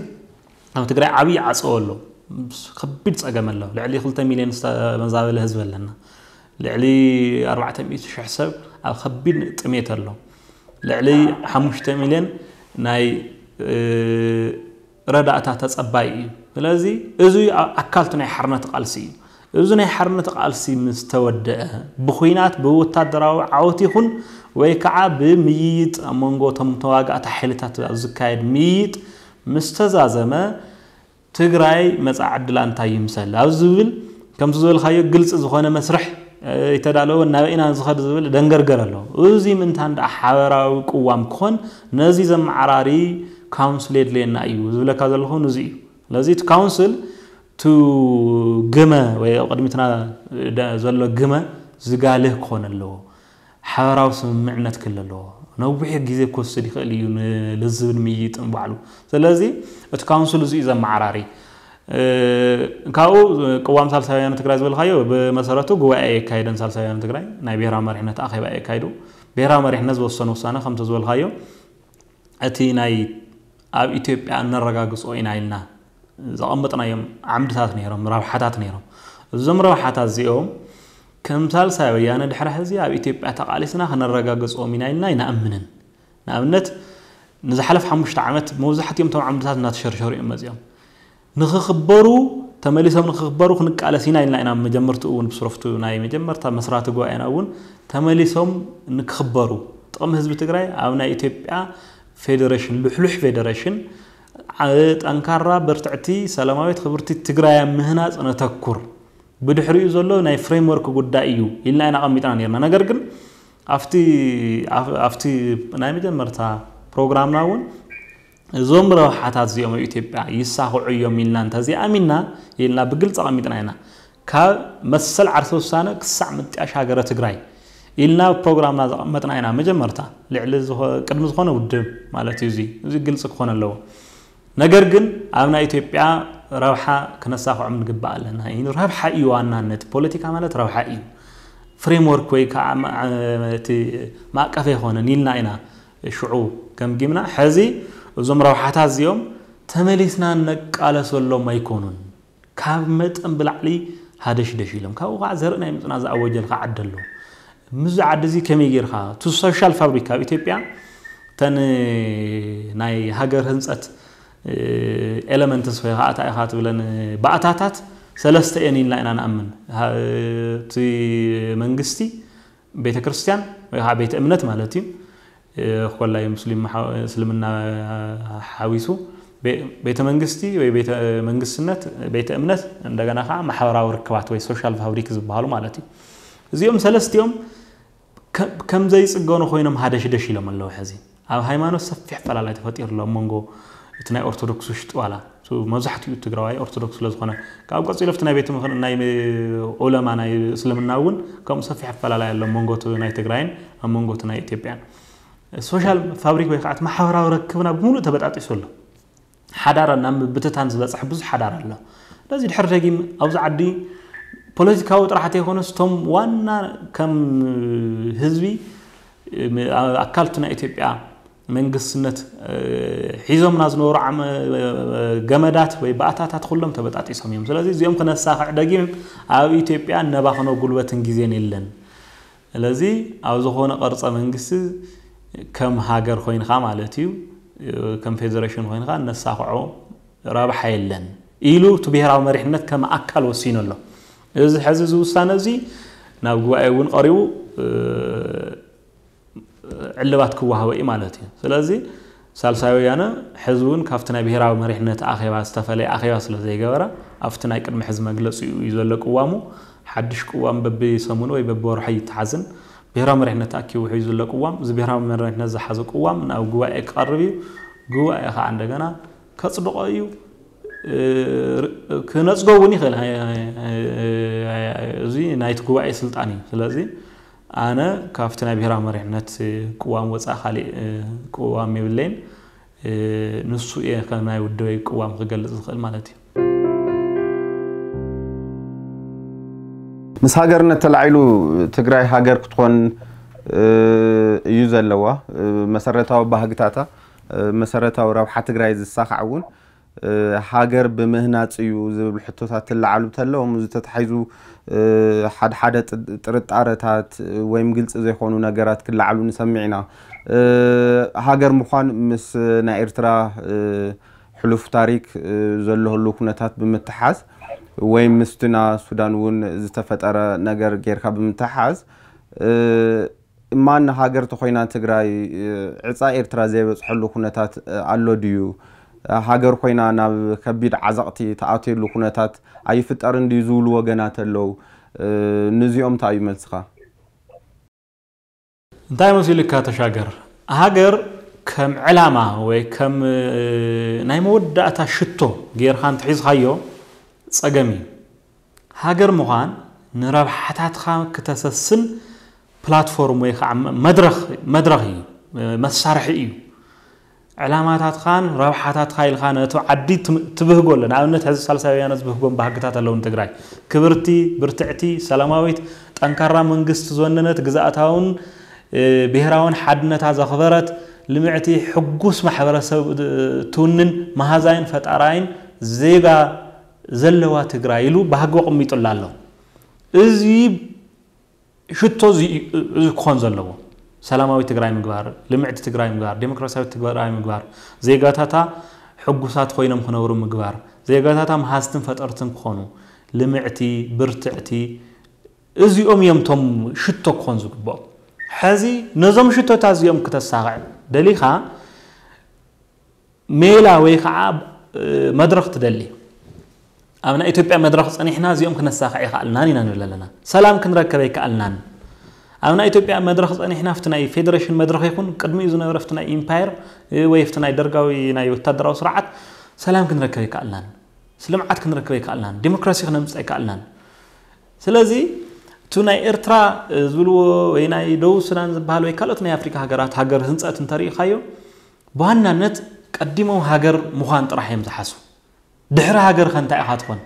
ኣብ ትግራይ ዓብዪ ዓፀዎ ኣሎ። ከቢድ ፀገም ኣሎ። ልዕሊ ክልተ ሚልዮን ዝተመዛበለ ህዝቢ ኣለና። ልዕሊ ኣርባዕተ ሚእቲ ሽሕ ሰብ ኣብ ከቢድ ጥሜት ኣሎ። ልዕሊ ሓሙሽተ ሚልዮን ናይ ረዳእታ ተፀባይ እዩ። ስለዚ እዚ ኣካልቲ ናይ ሓርነት ቃልሲ እዩ። እዚ ናይ ሓርነት ቃልሲ ምስ ተወደአ ብኹናት ብወታደራዊ ዓወት ይኹን ወይ ከዓ ብምይይጥ ኣብ መንጎ እቶም ተዋጋእቲ ሓይልታት ኣብ ዝካየድ ምይይጥ ምስ ተዛዘመ ትግራይ መፃ ዕድላ እንታይ ይምሰል ኣብ ዝብል ከምቲ ዝበልካዮ ግልፂ ዝኾነ መስርሕ ይተዳለወ ናብ ኢና ዝኸድ ዝብል ደንገርገር ኣሎ። እዚ ምንታን ደኣ ሓበራዊ ቅዋም ክኾን ነዚ ዘመዓራሪ ካውንስል የድልየና እዩ ዝብለካ ዘለኹ ንዚ እዩ። ስለዚ እቲ ካውንስል ቱ ግመ ወይ ኣብ ቅድሚትና ዘሎ ግመ ዝጋልህ ክኾን ኣለዎ። ሓበራዊ ስምምዕነት ክህሉ ኣለዎ። ነዊሕ ግዜ ክወስድ ይኽእል እዩ ንልዝብን ምይይጥን ባዕሉ። ስለዚ እቲ ካውንስል እዚ እዩ ዘመዓራሪ። ካብኡ ቅዋም ሳልሳውያን ትግራይ ዝበልካዮ ብመሰረቱ ጉባኤ የካየደን ሳልሳውያን ትግራይ ናይ ብሔራዊ መሪሕነት ኣኼባ የካይዱ። ብሔራዊ መሪሕነት ዝወሰኑ ውሳነ ከምቲ ዝበልካዮ እቲ ናይ ኣብ ኢትዮጵያ እነረጋግጾ ኢና ኢልና ዘቐመጥናዮም ዓምድታት ነይሮም፣ ረብሓታት ነይሮም። እዞም ረብሓታት እዚኦም ከም ሳልሳይ ወያነ ድሕሪ ሕዚ ኣብ ኢትዮጵያ ተቓሊስና ክነረጋግጾም ኢና ኢልና ኣይንኣምንን። ንኣብነት ንዝሓለፍ ሓሙሽተ ዓመት መብዛሕትኦም እቶም ዓምድታት እናተሸርሸሩ እዮም መፂኦም። ንኽኽበሩ ተመሊሶም ንኽኽበሩ ክንቃለስ ኢና ኢልና ኢና መጀመርትኡ እውን ብስረፍቱ ናይ መጀመርታ መስራቲ ጉባኤና እውን ተመሊሶም ንክኽበሩ ጥቕሚ ህዝቢ ትግራይ ኣብ ናይ ኢትዮጵያ ፌዴሬሽን ልሕሉሕ ፌዴሬሽን ጠንካራ ብርትዕቲ ሰላማዊት ክብርቲ ትግራይ ኣብ ምህናፅ ነተኩር ብድሕሪኡ ዘሎ ናይ ፍሬምወርክ ጉዳይ እዩ ኢልና ኢና ኣቐሚጥና ነርና። ነገር ግን ኣብቲ ኣብቲ ናይ መጀመርታ ፕሮግራምና እውን እዞም ረብሓታት እዚኦም ኣብ ኢትዮጵያ ይሳኽዑ እዮም ኢልና እንተዘይኣሚንና ኢልና ብግልፂ ኣቐሚጥና ኢና። ካብ መሰል ዓርሰ ውሳነ ክሳዕ ምጥያሽ ሃገረ ትግራይ ኢልና ፕሮግራምና ዘቐመጥና ኢና። መጀመርታ ልዕሊ ቅድሚ ዝኾነ ውድብ ማለት እዩ። እዚ እዚ ግልፂ ክኾን ኣለዎ። ነገር ግን ኣብ ናይ ኢትዮጵያ ረብሓ ክነሳኽዖም ንግባእ ኣለና። ረብሓ እዩ ዋናነት። ፖለቲካ ማለት ረብሓ እዩ። ፍሬምወርክ ወይ ከዓ እቲ ማእቀፍ ኣይኮነን ኢልና ኢና ሽዑ ገምጊምና። ሕዚ እዞም ረብሓታት እዚኦም ተመሊስና ነቃለሰሎም ኣይኮኑን። ካብ መጠን ብላዕሊ ሃደሽደሽ ኢሎም ካብኡ ከዓ ዘርኢ ናይ ምፅና ዝኣወጀልካ ዓዲ ኣሎ። ምስዚ ዓዲ እዚ ከመይ ጌርካ እቲ ሶሻል ፋብሪክ ኣብ ኢትዮጵያ ተን ናይ ሃገር ህንፀት ኤለመንትስ ወይ ከዓ እንታይ ኢኻ ትብለን ባእታታት ሰለስተ እየን ኢልና ኢና ንኣምን። እቲ መንግስቲ፣ ቤተ ክርስቲያን ወይ ከዓ ቤተ እምነት ማለት እዩ። ኮላይ ሙስሊም እስልምና ሓዊሱ ቤተ መንግስቲ ወይ ቤተ መንግስትነት፣ ቤተ እምነት፣ እንደገና ከዓ ማሕበራዊ ርክባት ወይ ሶሻል ፋብሪክ ዝበሃሉ ማለት እዩ። እዚኦም ሰለስቲኦም ከም ዘይፅገኑ ኮይኖም ሃደሽደሽ ኢሎም ኣለዉ። ሕዚ ኣብ ሃይማኖት ሰፊሕ ፈላላይ ተፈጢሩ ኣሎ ኣብ መንጎ እቲ ናይ ኦርቶዶክስ ውሽጢ ዋላ መብዛሕትኡ ትግራዋይ ኦርቶዶክስ ስለዝኾነ ካብኡ ቀፂሉ ኣብቲ ናይ ቤት ምኽሪ ናይ ዑለማ ናይ እስልምና እውን ከምኡ ሰፊሕ ኣፈላላይ ኣሎ ኣብ መንጎ ናይ ትግራይን ኣብ መንጎ ናይ ኢትዮጵያን። ሶሻል ፋብሪክ ወይ ከዓ ማሕበራዊ ረክብና ብምሉእ ተበጣጢሱ ኣሎ። ሓዳራ ናብ ምብትታን ዝበፅሕ ብዙሕ ሓዳር ኣሎ። ስለዚ ድሕር ደጊም ኣብዚ ዓዲ ፖለቲካዊ ጥራሕ ዘይኮነስ እቶም ዋና ከም ህዝቢ ኣካልቱ ናይ ኢትዮጵያ መንግስትነት ሒዞምና ዝነበሩ ገመዳት ወይ ባእታታት ኩሎም ተበጣጢሶም እዮም። ስለዚ እዚኦም ክነሳኽዕ ደጊም ኣብ ኢትዮጵያ ነባኽኖ ጉልበትን ግዜን የለን። ስለዚ ኣብ ዝኾነ ቅርፀ መንግስቲ ከም ሃገር ኮይንካ ማለት እዩ፣ ከም ፌደሬሽን ኮይንካ ነሳኽዖ ረብሓ የለን ኢሉ እቲ ብሄራዊ መሪሕነት ከም ኣካል ወሲኑ ኣሎ። እዚ ሕዚ እዚ ውሳነ እዚ ናብ ጉባኤ እውን ቀሪቡ ዕልባት ክወሃቦ እዩ ማለት እዩ። ስለዚ ሳልሳይ ወያነ ሕዚ እውን ካብቲ ናይ ብሄራዊ መሪሕነት ኣኼባ ዝተፈለየ ኣኼባ ስለ ዘይገበረ ኣብቲ ናይ ቅድሚ ሕዚ መግለፂኡ እዩ ዘሎ ቅዋሙ። ሓድሽ ቅዋም በብሰሙኑ ወይ በብወርሑ ይተሓዝን። ብሄራዊ መሪሕነት ኣኪቡ ሒዙ ዘሎ ቅዋም፣ እዚ ብሄራዊ መሪሕነት ዝሓዘ ቅዋም ናብ ጉባኤ ክቐርብ እዩ። ጉባኤ ከዓ እንደገና ከፅድቆ እዩ። ክነፅጎ እውን ይኽእል። እዚ ናይቲ ጉባኤ ስልጣን እዩ። ስለዚ ኣነ ካብቲ ናይ ብሄራዊ መሪሕነት ቅዋም ወፃኢ ካሊእ ቅዋም የብለይን። ንሱ እየ ከም ናይ ውድበይ ቅዋም ክገልፅ ዝኽእል ማለት እዩ። ምስ ሃገርነት ተላዒሉ ትግራይ ሃገር ክትኾን እዩ ዘለዋ። መሰረታዊ ባህግታታ፣ መሰረታዊ ረብሓ ትግራይ ዝሳኻዕ እውን ሃገር ብምህናፅ እዩ ዝብል ሕቶታት ትለዓሉ ተለዎም፣ እዚ ተታሒዙ ሓደ ሓደ ጥርጣረታት ወይም ግልፂ ዘይኮኑ ነገራት ክለዓሉ ንሰምዕ ኢና። ሃገር ምዃን ምስ ናይ ኤርትራ ሕሉፍ ታሪክ ዘሎ ህሉ ኩነታት ብምትሓዝ ወይም ምስትና ሱዳን እውን ዝተፈጠረ ነገር ጌርካ ብምትሓዝ ማን ሃገር ተኾይና ትግራይ ዕፃ ኤርትራ ዘይበፅሐሉ ኩነታት ኣሎ ድዩ? ሃገር ኮይና ናብ ከቢድ ዓዘቕቲ ተኣትየሉ ኩነታት ኣይፍጠርን ድዩ ዝብሉ ወገናት ኣለዉ። ንዚኦም እንታይ እዩ መልስኻ? እንታይ መሲሉካ ተሻገር? ሃገር ከም ዕላማ ወይ ከም ናይ መወዳእታ ሽቶ ጌርካ እንትሒዝካዮ ፀገም እዩ። ሃገር ምዃን ንረብሓታትካ ክተሰስን ፕላትፎርም ወይ ከዓ መድረኽ እዩ፣ መሳርሒ እዩ። ዕላማታትካን ረብሓታትካ ኢልካ ነቲ ዓዲ ትብህጎ ኣሎ። ንኣብነት ሕዚ ሳልሳይ ወያነ ዝብህጎም ባህግታት ኣለዉ ንትግራይ። ክብርቲ፣ ብርትዕቲ፣ ሰላማዊት፣ ጠንካራ መንግስቲ ዝወነነት፣ ግዝኣታውን ብሄራውን ሓድነታ ዘኽበረት፣ ልምዕቲ፣ ሕጉስ ማሕበረሰብ ትውንን፣ መሃዛይን ፈጣራይን ዜጋ ዘለዋ ትግራይ ኢሉ ባህጊ ኣቕሚጡላ ኣሎ። እዚ ሽቶ እዚ ክኾን ዘለዎ ሰላማዊ ትግራይ ምግባር፣ ልምዕቲ ትግራይ ምግባር፣ ዴሞክራሲያዊ ትግራይ ምግባር፣ ዜጋታታ ሕጉሳት ኮይኖም ክነብሩ ምግባር፣ ዜጋታታ መሃዝትን ፈጠርትን ክኾኑ፣ ልምዕቲ፣ ብርትዕቲ፣ እዚኦም እዮም ቶም ሽቶ ክኾን ዝግብኦም። ሕዚ ነዞም ሽቶታት እዚኦም ክተሳኽዕ ደሊኻ ሜላ ወይ ከዓ መድረኽ ትደሊ። ኣብ ናይ ኢትዮጵያ መድረኽ ፀኒሕና እዚኦም ክነሳኽዕ ይኸኣልናን ኢና ንብል ኣለና። ሰላም ክንረከብ ኣይከኣልናን። ኣብ ናይ ኢትዮጵያ መድረኽ ፀኒሕና ኣብቲ ናይ ፌደሬሽን መድረኽ ይኹን ቅድሚኡ ዝነበረ ኣብቲ ናይ ኢምፓየር ወይ ኣብቲ ናይ ደርጋዊ ናይ ወታደራዊ ስርዓት ሰላም ክንረከብ ኣይከኣልናን። ልምዓት ክንረክብ ኣይከኣልናን። ዲሞክራሲ ክነምፅእ ኣይከኣልናን። ስለዚ እቱ ናይ ኤርትራ ዝብልዎ ወይ ናይ ደቡብ ሱዳን ዝበሃል ወይ ካልኦት ናይ ኣፍሪካ ሃገራት ሃገር ህንፀት እንተሪኢኻዮ ብዋናነት ቀዲሞም ሃገር ምዃን ጥራሕ እዮም ዝሓስቡ። ድሕሪ ሃገር ከ እንታይ ኢኻ ትኾን?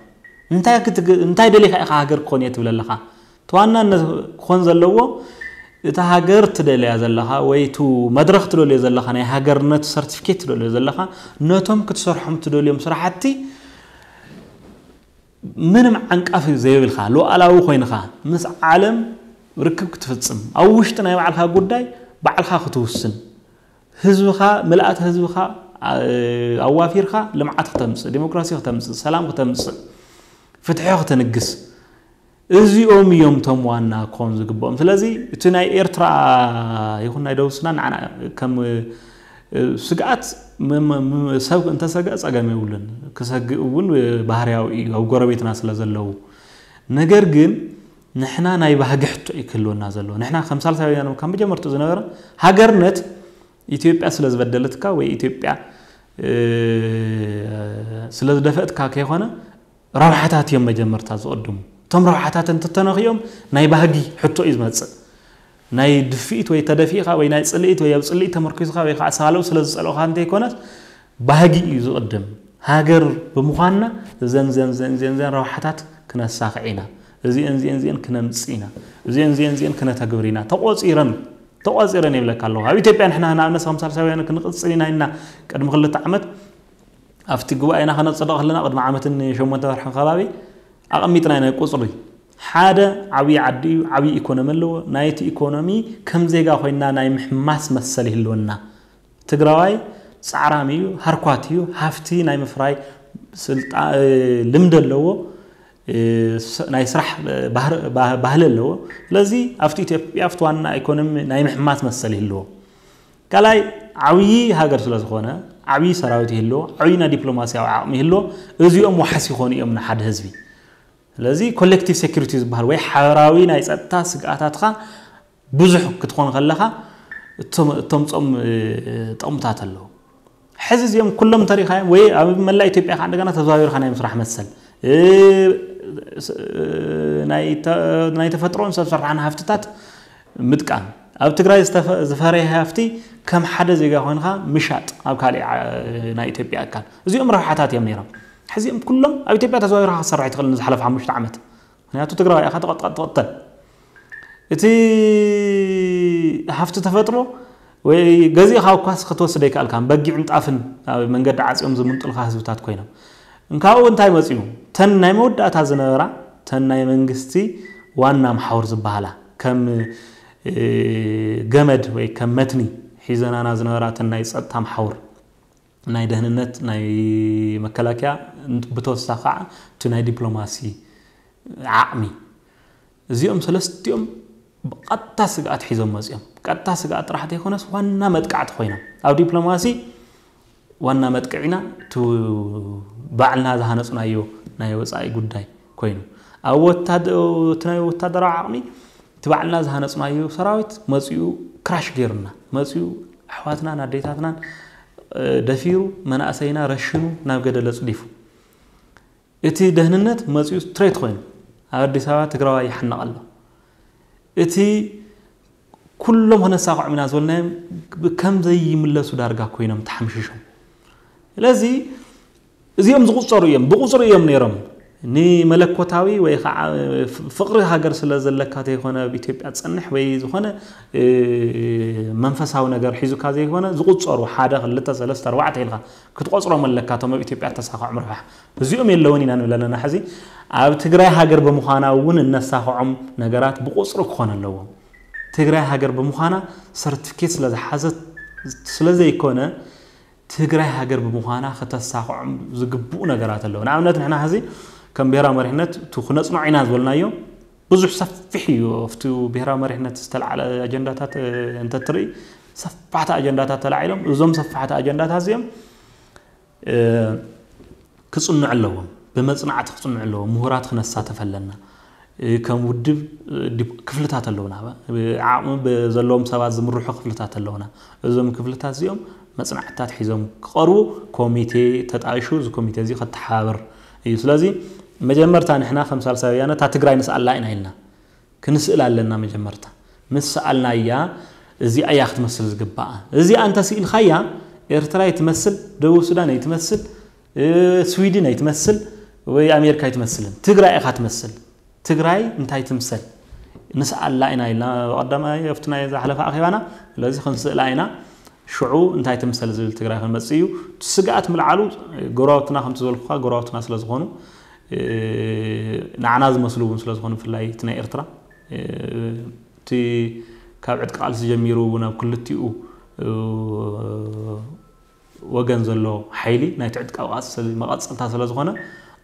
እንታይ ክትግ- እንታይ ደሊኻ ኢኻ ሃገር ክኾን እየ ትብል ኣለኻ? እቲ ዋናነት ክኾን ዘለዎ እቲ ሃገር ትደልያ ዘለኻ ወይ እቲ መድረኽ ትደልዮ ዘለኻ ናይ ሃገርነት ሰርቲፊኬት ትደልዮ ዘለኻ ነቶም ክትሰርሖም ትደልዮም ስራሕቲ ምንም ዓንቃፊ ዘይብልካ ሉዓላዊ ኮይንኻ ምስ ዓለም ርክብ ክትፍፅም ኣብ ውሽጢ ናይ ባዕልካ ጉዳይ ባዕልካ ክትውስን ህዝብኻ ምልኣት ህዝብኻ ኣዋፊርካ ልምዓት ክተምፅእ ዲሞክራሲ ክተምፅእ ሰላም ክተምፅእ ፍትሒ ክትንግስ እዚኦም እዮም ቶም ዋና ክኾኑ ዝግብኦም። ስለዚ እቲ ናይ ኤርትራ ይኹን ናይ ደቡብ ሱዳን ንዓና ከም ስግኣት ሰብ እንተሰግአ ፀገም የብሉን። ክሰግእ እውን ባህርያዊ እዩ ኣብ ጎረቤትና ስለ ዘለዉ። ነገር ግን ንሕና ናይ ባህጊ ሕቶ እዩ ክህልወና ዘለዎ። ንሕና ከም ሳልሳይ ወያነ ካብ መጀመርትኡ ዝነበረ ሃገርነት ኢትዮጵያ ስለ ዝበደለትካ ወይ ኢትዮጵያ ስለ ዝደፈእትካ ከይኮነ ረብሓታት እዮም መጀመርታ ዝቕድሙ። እቶም ረብሓታት እንትተነኽዮም ናይ ባህጊ ሕቶ እዩ ዝመፅእ። ናይ ድፍኢት ወይ ተደፊእኻ ወይ ናይ ፅልኢት ወይ ኣብ ፅልኢት ተመርኪዝኻ ወይ ከዓ ሳልኡ ስለ ዝፀልኦኻ እንተይኮነስ ባህጊ እዩ ዝቕድም። ሃገር ብምዃንና ዘን ዘን ዘን ዘን ዘን ረብሓታት ክነሳኽዕ ኢና። እዚአን እዚአን እዚአን ክነምጽእ ኢና፣ እዚአን እዚአን እዚአን ክነተግብር ኢና ተቆጺረን ተቆጺረን ይብለካ ኣለኹ። ኣብ ኢትዮጵያ ንሕና ንኣብነት ከም ሳልሳውያን ክንቕጽል ኢና ኢልና ቅድሚ ክልተ ዓመት ኣብቲ ጉባኤና ከነጽድቕ ከለና ቅድሚ ዓመትን ሸሞንተ ወርሕን ከባቢ ኣቐሚጥና ኢና ቁጽሪ። ሓደ ዓብዪ ዓዲ እዩ፣ ዓብዪ ኢኮኖሚ ኣለዎ። ናይቲ ኢኮኖሚ ከም ዜጋ ኮይና ናይ ምሕማስ መሰል ይህልወና። ትግራዋይ ጻዕራም እዩ፣ ሃርኳት እዩ፣ ሃፍቲ ናይ ምፍራይ ስልጣ- ልምዲ ኣለዎ፣ ናይ ስራሕ ባህሪ ኣለዎ። ስለዚ ኣብቲ ኢትዮጵያ ኣብቲ ዋና ኢኮኖሚ ናይ ምሕማስ መሰል ይህልዎ። ካልኣይ ዓብዪ ሃገር ስለ ዝኾነ ዓብዪ ሰራዊት ይህልዎ፣ ዓብዪ ናይ ዲፕሎማሲያዊ ዓቕሚ ይህልዎ። እዚኦም ዋሕስ ይኾኑ እዮም ንሓደ ህዝቢ። ስለዚ ኮሌክቲቭ ሴኩሪቲ ዝበሃል ወይ ሓበራዊ ናይ ጸጥታ ስግኣታትካ ብዙሕ ክትኾን ከለኻ እተምፅኦም ጥቕምታት ኣለዉ። ሕዚ እዚኦም ኩሎም እንተሪኻዮም ወይ ኣብ መላእ ኢትዮጵያ ከዓ እንደገና ተዘዋዊርካ ናይ ምስራሕ መሰል ናይ ተፈጥሮን ሰብ ሰራሕን ሃፍትታት ምጥቃም፣ ኣብ ትግራይ ዝፈረየ ሃፍቲ ከም ሓደ ዜጋ ኮይንካ ምሻጥ ኣብ ካሊእ ናይ ኢትዮጵያ ኣካል፣ እዚኦም ረብሓታት እዮም ነይሮም። ሕዚኦም ኩሎም ኣብ ኢትዮጵያ ተዘዋዊርካ ክትሰርሕ ኣይትኽእልን ዝሓለፈ ሓሙሽተ ዓመት። ምክንያቱ ትግራዋይ ኢኻ፣ ትቐጥቀጥ ትቕተል። እቲ ሃፍቲ ተፈጥሮ ወይ ገዚእኻ እኳስ ክትወስድ ኣይከኣልካን። በጊዕን ጣፍን ኣብ መንገዲ ዓፅዮም ዝምንጥልካ ህዝብታት ኮይኖም። እንካብኡ እንታይ መፅዩ? ተን ናይ መወዳእታ ዝነበራ ተን ናይ መንግስቲ ዋና መሓውር ዝበሃላ ከም ገመድ ወይ ከም መትኒ ሒዘናና ዝነበራ ተን ናይ ፀጥታ መሓውር ናይ ደህንነት ናይ መከላከያ ብተወሳኺ ከዓ እቲ ናይ ዲፕሎማሲ ዓቕሚ እዚኦም ሰለስቲኦም ብቐጥታ ስግኣት ሒዞም መፅኦም። ቀጥታ ስግኣት ጥራሕ ዘይኮነስ ዋና መጥቃዕቲ ኮይኖም ኣብ ዲፕሎማሲ ዋና መጥቅዒና እቲ ባዕልና ዝሃነፅናዮ ናይ ወፃኢ ጉዳይ ኮይኑ ኣብ ወታደ- እቲ ናይ ወታደራዊ ዓቕሚ እቲ ባዕልና ዝሃነፅናዮ ሰራዊት መፂኡ ክራሽ ገይሩና መፂኡ ኣሕዋትናን ኣዴታትናን ደፊሩ መናእሰይና ረሽኑ ናብ ገደል ኣፅዲፉ እቲ ደህንነት መፂኡ ስትሬት ኮይኑ ኣብ ኣዲስ ኣበባ ትግራዋይ ይሓንቕ ኣሎ። እቲ ኩሎም ክነሳኽዖም ኢና ዝበልናዮም ከም ዘይምለሱ ዳርጋ ኮይኖም ተሓምሽሾም። ስለዚ እዚኦም ዝቑፀሩ እዮም፣ ብቑፅሪ እዮም ነይሮም። ንመለኮታዊ ወይ ከዓ ፍቕሪ ሃገር ስለ ዘለካ ዘይኮነ ኣብ ኢትዮጵያ ትፀንሕ ወይ ዝኾነ መንፈሳዊ ነገር ሒዙካ ዘይኮነ ዝቑፀሩ ሓደ ክልተ ሰለስተ ኣርባዕተ ኢልካ ክትቆፅሮም ኣለካ እቶም ኣብ ኢትዮጵያ ተሳኽዖም ረብሓ። እዚኦም የለውን ኢና ንብል ኣለና። ሕዚ ኣብ ትግራይ ሃገር ብምዃና እውን እነሳኽዖም ነገራት ብቑፅሪ ክኾን ኣለዎም። ትግራይ ሃገር ብምዃና ሰርቲፊኬት ስለ ዝሓዘት ስለ ዘይኮነ ትግራይ ሃገር ብምዃና ከተሳኽዖም ዝግብኡ ነገራት ኣለዉ። ንኣብነት ንሕና ሕዚ ከም ብሄራዊ መሪሕነት እቲ ክነፅንዖ ኢና ዝበልናዮ ብዙሕ ሰፊሕ እዩ። ኣብቲ ብሄራዊ መሪሕነት ዝተለዓለ ኣጀንዳታት እንተትርኢ ሰፋሕቲ ኣጀንዳታት ተላዒሎም እዞም ሰፋሕቲ ኣጀንዳታት እዚኦም ክፅንዑ ኣለዎም። ብመፅናዕቲ ክፅንዑ ኣለዎም። ምሁራት ክነሳተፍ ኣለና። ከም ውድብ ክፍልታት ኣለውና። ዓቕሚ ዘለዎም ሰባት ዝምርሑ ክፍልታት ኣለውና። እዞም ክፍልታት እዚኦም መፅናዕትታት ሒዞም ክቐርቡ ኮሚቴ ተጣይሹ እዚ ኮሚቴ እዚ ከተሓባብር እዩ። ስለዚ መጀመርታ ንሕና ከም ሳልሳይ ወያነ እታ ትግራይ ንስኣላ ኢና ኢልና ክንስእል ኣለና። መጀመርታ ምስ ሰኣልናያ እዚኣ እያ ክትመስል ዝግባኣ። እዚኣ እንተስኢልካያ ኤርትራ ኣይትመስል፣ ደቡብ ሱዳን ኣይትመስል፣ ስዊድን ኣይትመስል ወይ ኣሜሪካ ኣይትመስልን። ትግራይ ኢኻ ትመስል። ትግራይ እንታይ ትምሰል ንስኣላ ኢና ኢልና ቀዳማይ ኣብቲ ናይ ዝሓለፈ ኣኼባና። ስለዚ ክንስእላ ኢና። ሽዑ እንታይ ትምሰል ዝብል ትግራይ ክንመፅእ እዩ። ስግኣት ምልዓሉ ጎረባብትና ከምቲ ዝበልኩካ ጎረባብትና ስለዝኾኑ ንዓና ዝመስሉ እውን ስለዝኾኑ ብፍላይ እቲ ናይ ኤርትራ እቲ ካብ ዕጥቂ ቃልሲ ጀሚሩ ናብ ክልቲኡ ወገን ዘሎ ሓይሊ ናይቲ ዕጥቃዊ ቃልሲ መቐፀልታ ስለዝኾነ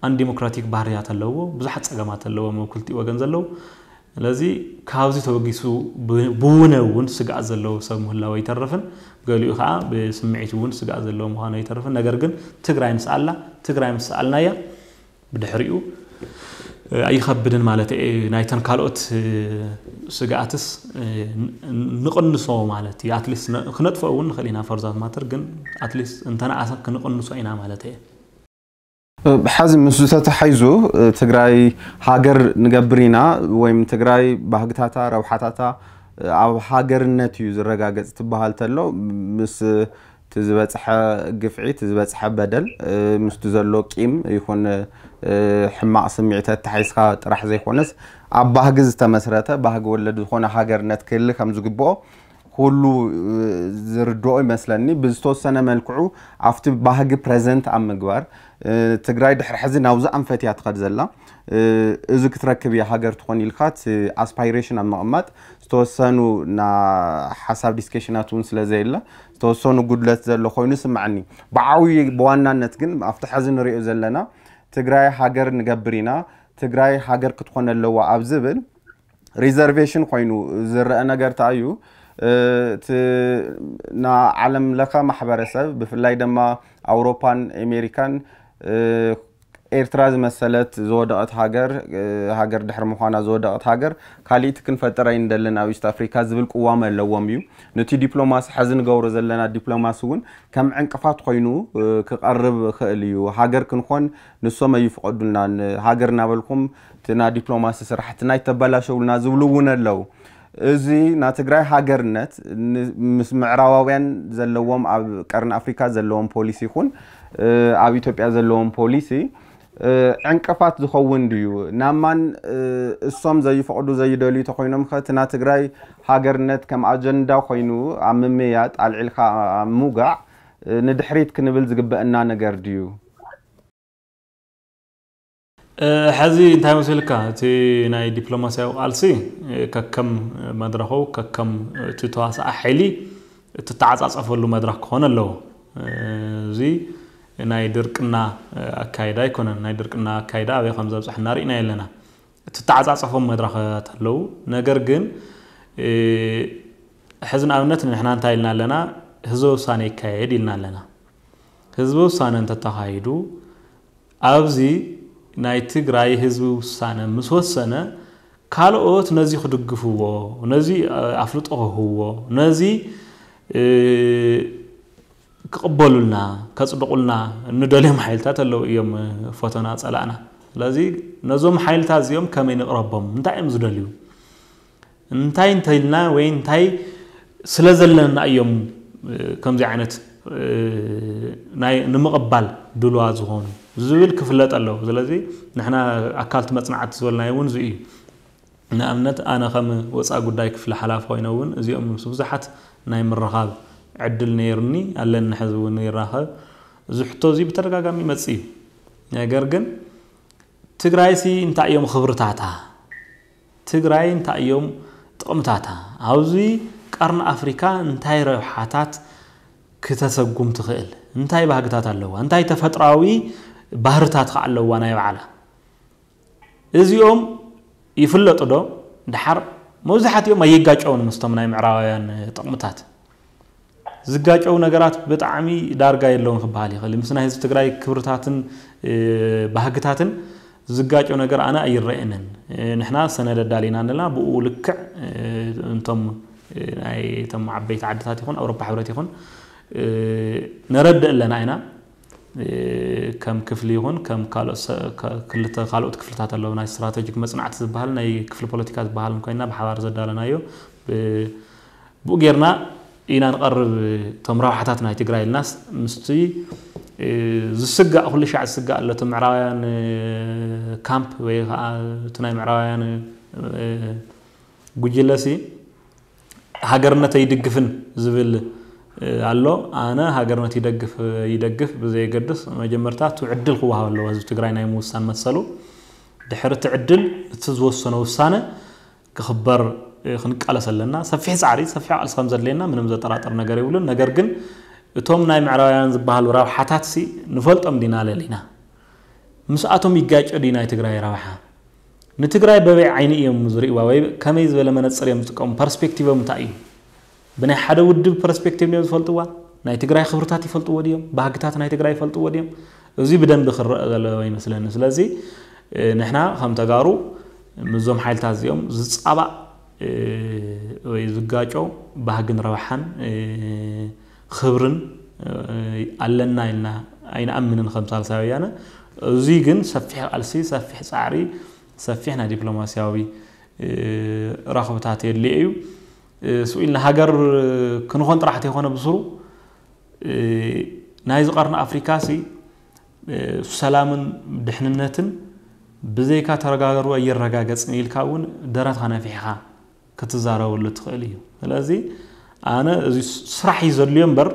ኣን ዲሞክራቲክ ባህርያት ኣለዎ። ብዙሓት ፀገማት ኣለዎም ኣብ ክልቲኡ ወገን ዘለዉ። ስለዚ ካብዚ ተበጊሱ ብውነ እውን ስግኣት ዘለዎ ሰብ ምህላው ኣይተርፍን። ገሊኡ ከዓ ብስምዒት እውን ስግኣት ዘለዎ ምዃኑ ኣይተርፍን። ነገር ግን ትግራይ ምስ ኣላ ትግራይ ምስ ኣልናያ ብድሕሪኡ ኣይኸብድን ማለት እየ። ናይተን ካልኦት ስግኣትስ ንቕንሶ ማለት እዩ። ኣትሊስት ክነጥፍኦ እውን ንኽእል ኢና። ፈርዛት ማተር ግን ኣትሊስት እንተነኣሰ ክንቕንሶ ኢና ማለት እየ። ብሓዚ ምስ ዝተተሓይዙ ትግራይ ሃገር ንገብር ኢና ወይም ትግራይ ባህግታታ ረብሓታታ ኣብ ሃገርነት እዩ ዝረጋገፅ ትበሃል ተሎ ምስ እቲ ዝበፅሐ ግፍዒት ዝበፅሐ በደል ምስቲ ዘሎ ቂም ይኹን ሕማቕ ስምዒት ኣተሓይዝካ ጥራሕ ዘይኮነስ ኣብ ባህጊ ዝተመስረተ ባህጊ ወለድ ዝኾነ ሃገርነት ክህሊ ከም ዝግብኦ ኩሉ ዝርድኦ ይመስለኒ። ብዝተወሰነ መልክዑ ኣብቲ ባህጊ ፕረዘንት ኣብ ምግባር ትግራይ ድሕሪ ሕዚ ናብዚ ኣንፈት እያ ትኸድ ዘላ። እዚ ክትረክብ እያ ሃገር ትኾን ኢልካ እቲ ኣስፓይሬሽን ኣብ ምቕማጥ ዝተወሰኑ ና ሓሳብ ዲስከሽናት እውን ስለ ዘየለ ዝተወሰኑ ጉድለት ዘሎ ኮይኑ ስምዓኒ። ብዓብዩ ብዋናነት ግን ኣብቲ ሕዚ ንሪኦ ዘለና ትግራይ ሃገር ንገብር ኢና፣ ትግራይ ሃገር ክትኾን ኣለዋ ኣብ ዝብል ሪዘርቬሽን ኮይኑ ዝረአ ነገር እንታይ እዩ? እቲ ና ዓለም ለኸ ማሕበረሰብ ብፍላይ ድማ ኣውሮፓን ኣሜሪካን ኤርትራ ዝመሰለት ዝወደቐት ሃገር ሃገር ድሕሪ ምዃና ዝወደቐት ሃገር ካልእቲ ክንፈጥር ኣይንደልን ኣብ ኢስት ኣፍሪካ ዝብል ቅዋም ኣለዎም እዩ። ነቲ ዲፕሎማሲ ሕዚ ንገብሮ ዘለና ዲፕሎማሲ እውን ከም ዕንቅፋት ኮይኑ ክቐርብ ይኽእል እዩ። ሃገር ክንኾን ንሶም ኣይፍቐዱልናን። ሃገር እናበልኩም እቲ ናይ ዲፕሎማሲ ስራሕትና ይተበላሸውልና ዝብሉ እውን ኣለዉ። እዚ ናይ ትግራይ ሃገርነት ምስ ምዕራባውያን ዘለዎም ኣብ ቀርኒ ኣፍሪካ ዘለዎም ፖሊሲ ይኹን ኣብ ኢትዮጵያ ዘለዎም ፖሊሲ ዕንቅፋት ዝኸውን ድዩ? ናማን እሶም ዘይፈቕዱ ዘይደልዩ ተኮይኖም ከ እቲ ናይ ትግራይ ሃገርነት ከም ኣጀንዳ ኮይኑ ኣብ ምምያጥ ኣልዒልካ ኣብ ምውጋዕ ንድሕሪት ክንብል ዝግበአና ነገር ድዩ? ሕዚ እንታይ መሲልካ እቲ ናይ ዲፕሎማሲያዊ ቃልሲ ከከም መድረኹ ከከም እቲ ተዋሳኣ ሓይሊ እትተዓፃፀፈሉ መድረክ ክኾን ኣለዎ። እዚ ናይ ድርቅና ኣካይዳ ኣይኮነን። ናይ ድርቅና ኣካይዳ ኣበይ ከም ዘብፅሐና ርኢና የለና። እትተዓፃፀፎም መድረኻት ኣለዉ። ነገር ግን ሕዚ ንኣብነት ንሕና እንታይ ኢልና ኣለና? ህዝበ ውሳነ ይካየድ ኢልና ኣለና። ህዝበ ውሳነ እንተተኻይዱ ኣብዚ ናይ ትግራይ ህዝቢ ውሳነ ምስ ወሰነ ካልኦት ነዚ ክድግፍዎ፣ ነዚ ኣፍልጦ ክህብዎ፣ ነዚ ክቕበሉልና፣ ከፅድቑልና እንደልዮም ሓይልታት ኣለዉ እዮም፣ ፈተና ፀላእና። ስለዚ ነዞም ሓይልታት እዚኦም ከመይ ንቕረቦም? እንታይ እዮም ዝደልዩ? እንታይ እንተኢልና ወይ እንታይ ስለ ዘለና እዮም ከምዚ ዓይነት ናይ ንምቕባል ድልዋ ዝኾኑ ዝብል ክፍለጥ ኣለዎ። ስለዚ ንሕና ኣካልቲ መፅናዕቲ ዝበልናዮ እውን እዚ እዩ። ንኣብነት ኣነ ከም ወፃኢ ጉዳይ ክፍሊ ሓላፊ ኮይነ እውን እዚኦም ምስ ብዙሓት ናይ ምርኻብ ዕድል ነይሩኒ ኣለኒ፣ ሕዚ እውን ይራኸብ። እዚ ሕቶ እዚ ብተደጋጋሚ ይመፅእ እዩ። ነገር ግን ትግራይሲ እንታይ እዮም ክብርታታ? ትግራይ እንታይ እዮም ጥቕምታታ? ኣብዚ ቀርኒ ኣፍሪካ እንታይ ረብሓታት ክተሰጉም ትኽእል? እንታይ ባህግታት ኣለዋ? እንታይ ተፈጥራዊ ባህርታት ከ ኣለዋ ናይ ባዕላ? እዚኦም ይፍለጡ ዶ? ድሓር መብዛሕትኦም ኣይጋጨውን ምስቶም ናይ ምዕራባውያን ጥቕምታት። ዝጋጨው ነገራት ብጣዕሚ ዳርጋ የለውን ክበሃል ይኽእል። ምስ ናይ ህዝቢ ትግራይ ክብርታትን ባህግታትን ዝጋጨው ነገር ኣነ ኣይረአንን። ንሕና ሰነድ ኣዳሊና ኣለና። ብኡ ልክዕ እንቶም ናይ እቶም ዓበይቲ ዓድታት ይኹን ኣውሮፓ ሕብረት ይኹን ነረድእ ኣለና ኢና። ከም ክፍሊ ይኹን ከም ክልተ ካልኦት ክፍልታት ኣለዉ። ናይ ስትራተጂክ መፅናዕቲ ዝበሃል ናይ ክፍሊ ፖለቲካ ዝበሃል እንኮይና ብሓባር ዘዳለናዮ ብኡ ጌርና ኢና ንቐርብ። እቶም ረብሓታት ናይ ትግራይ ኢልናስ ምስቲ ዝስጋእ ኩሉ ሻዕ ዝስጋእ ኣሎ እቲ ምዕራባውያን ካምፕ ወይ ከዓ እቲ ናይ ምዕራባውያን ጉጅለሲ ሃገርነት ኣይድግፍን ዝብል ኣሎ። ኣነ ሃገርነት ይደግፍ ይደግፍ ብዘየገድስ መጀመርታ እቲ ዕድል ክወሃብ ኣለዎ ህዝቢ ትግራይ ናይ ምውሳን መሰሉ። ድሕሪ እቲ ዕድል እቲ ዝወሰኖ ውሳነ ክኽበር ክንቃለስ ኣለና። ሰፊሕ ፃዕሪ ሰፊሕ ቃልሲ ከም ዘድልየና ምንም ዘጠራጥር ነገር የብሉን። ነገር ግን እቶም ናይ ምዕራባውያን ዝበሃሉ ረብሓታት ሲ ንፈልጦም ዲና ለሊና ምስኣቶም ይጋጨ ድዩ ናይ ትግራይ ረብሓ? ንትግራይ በበይ ዓይኒ እዮም ዝርእይዋ ወይ ከመይ ዝበለ መነፅር እዮም ዝጥቀሙ? ፐርስፔክቲቮም እንታይ እዩ? ብናይ ሓደ ውድብ ፐርስፔክቲቭ እዮም ዝፈልጥዋ? ናይ ትግራይ ክብርታት ይፈልጥዎ ድዮም? ባህግታት ናይ ትግራይ ይፈልጥዎ ድዮም? እዚ ብደንቢ ክረአ ዘለዎ ይመስለኒ። ስለዚ ንሕና ከም ተጋሩ ምስዞም ሓይልታት እዚኦም ዝፃባእ ወይ ዝጋጮ ባህግን ረብሓን ክብርን ኣለና ኢልና ኣይንኣምንን ከም ሳልሳይ ወያነ። እዚ ግን ሰፊሕ ቃልሲ፣ ሰፊሕ ፃዕሪ፣ ሰፊሕ ናይ ዲፕሎማሲያዊ ረኽብታት የድልዮ እዩ። ስኡ ኢልና ሃገር ክንኾን ጥራሕ ተይኮነ ብስሩ ናይዚ ቀርኒ ኣፍሪካ ሲ ሰላምን ድሕንነትን ብዘይካ ተረጋገሩ ኣይረጋገፅን ኢልካ እውን ደረትካ ነፊሕካ ክትዛረበሉ ትኽእል እዩ። ስለዚ ኣነ እዚ ስራሕ እዩ ዘድልዮ እምበር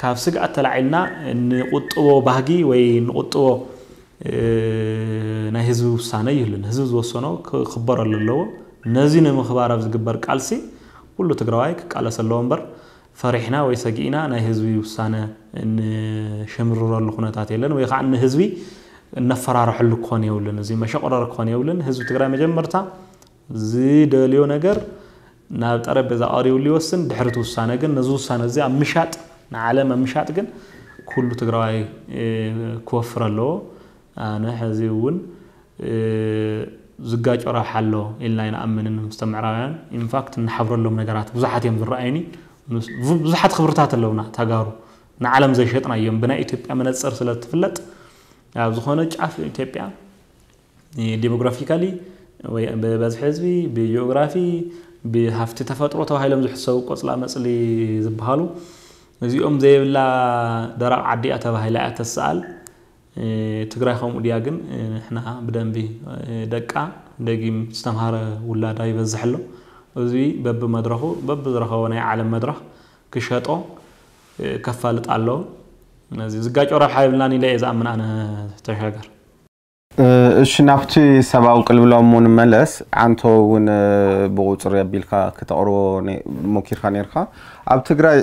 ካብ ስግኣት ተላዒልና ንቁጥቦ ባህጊ ወይ ንቁጥቦ ናይ ህዝቢ ውሳነ ይህልን። ህዝቢ ዝወሰኖ ክኽበረሉ ኣለዎ። ነዚ ንምኽባር ኣብ ዝግበር ቃልሲ ኩሉ ትግራዋይ ክቃለስ ኣለዎ እምበር ፈሪሕና ወይ ሰጊእና ናይ ህዝቢ ውሳነ እንሸምርረሉ ኩነታት የለን፣ ወይ ከዓ ንህዝቢ እነፈራርሐሉ ክኾን የብልን። እዚ መሸቆረር ክኾን የብልን። ህዝቢ ትግራይ መጀመርታ ዝደልዮ ነገር ናብ ጠረጴዛ ቀሪብሉ ይወስን። ድሕሪ እቲ ውሳነ ግን ነዚ ውሳነ እዚ ኣብ ምሻጥ ንዓለም ኣብ ምሻጥ ግን ኩሉ ትግራዋይ ክወፍር ኣለዎ። ኣነ ሕዚ እውን ዝጋጮ ረብሓ ኣሎ ኢልና ኣይንኣምንን። ምስ ምዕራባውያን ኢንፋክት እንሓብረሎም ነገራት ብዙሓት እዮም ዝረኣዩኒ። ብዙሓት ክብርታት ኣለውና ተጋሩ ንዓለም ዘይሸጥና እዮም። ብናይ ኢትዮጵያ መነፅር ስለ ትፍለጥ ኣብ ዝኾነ ጫፍ ኢትዮጵያ ዲሞግራፊካሊ ወይ ብበዝሒ ህዝቢ፣ ብጂኦግራፊ፣ ብሃፍቲ ተፈጥሮ ተባሂሎም ዝሕሰቡ ቆፅላ መፅሊ ዝበሃሉ እዚኦም ዘይብላ ደረቕ ዓዲ እያ ተባሂላ እያ ተሰኣል። ትግራይ ከምኡ ድያ ግን ንሕና ብደንቢ ደቃ ደጊም ዝተምሃረ ውላዳ ይበዝሕ ኣሎ። እዚ በብመድረኹ በብዝረኸቦ ናይ ዓለም መድረኽ ክሸጦ ከፋልጥ ኣለዎ። ነዚ ዝጋጮ ረብሓ የብልናን ኢለ እየ ዝኣምን ኣነ ተሻገር። እሺ ናብቲ ሰብኣዊ ቅልብሎም እውን መለስ ዓንቶ እውን ብቁፅሪ ኣቢልካ ክተቕርቦ ሞኪርካ ነርካ ኣብ ትግራይ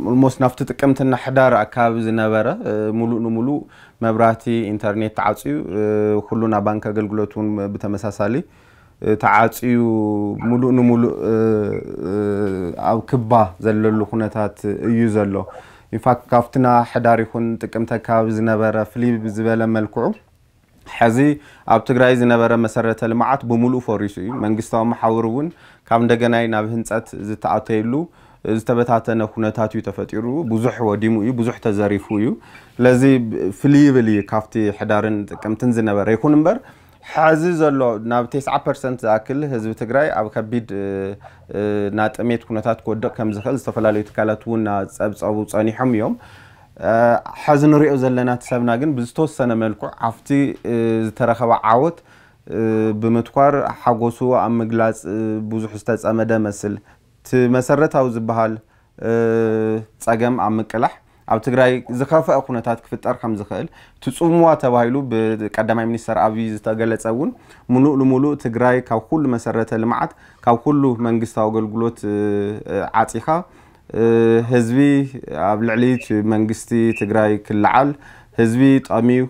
ኦልሞስት ናብቲ ጥቅምትና ሕዳር ኣካባቢ ዝነበረ ሙሉእ ንሙሉእ መብራህቲ ኢንተርኔት ተዓፅዩ ኩሉ ናብ ባንክ ኣገልግሎት እውን ብተመሳሳሊ ተዓፅዩ ሙሉእ ንሙሉእ ኣብ ክባ ዘለሉ ኩነታት እዩ ዘሎ። ኢንፋክት ካብትና ሕዳር ይኹን ጥቅምቲ ኣካባቢ ዝነበረ ፍልይ ዝበለ መልክዑ ሕዚ ኣብ ትግራይ ዝነበረ መሰረተ ልምዓት ብሙሉእ ፈሪሱ እዩ። መንግስታዊ መሓውር እውን ካብ እንደገናይ ናብ ህንፀት ዝተኣተየሉ ዝተበታተነ ኩነታት እዩ ተፈጢሩ። ብዙሕ ወዲሙ እዩ፣ ብዙሕ ተዘሪፉ እዩ። ስለዚ ፍልይ ይብል እዩ ካብቲ ሕዳርን ጥቅምትን ዝነበረ። ይኹን እምበር ሕዚ ዘሎ ናብ ተስዓ ፐርሰንት ዝኣክል ህዝቢ ትግራይ ኣብ ከቢድ ናጥሜት ኩነታት ክወድቕ ከም ዝኽእል ዝተፈላለዩ ትካላት እውን ጸብጸቡ ጸኒሖም እዮም። ሕዚ ንሪኦ ዘለና እቲ ሰብና ግን ብዝተወሰነ መልክዑ ኣብቲ ዝተረኸበ ዓወት ብምትኳር ሓጎሱ ኣብ ምግላፅ ብዙሕ ዝተፀመደ መስል እቲ መሰረታዊ ዝበሃል ፀገም ኣብ ምቅላሕ ኣብ ትግራይ ዝኸፍአ ኩነታት ክፍጠር ከም ዝኽእል እቲ ፅምዋ ተባሂሉ ብቀዳማይ ሚኒስተር ኣብይ ዝተገለፀ እውን ሙሉእ ንሙሉእ ትግራይ ካብ ኩሉ መሰረተ ልምዓት ካብ ኩሉ መንግስታዊ ኣገልግሎት ዓፂኻ ህዝቢ ኣብ ልዕሊ መንግስቲ ትግራይ ክለዓል ህዝቢ ጠምዩ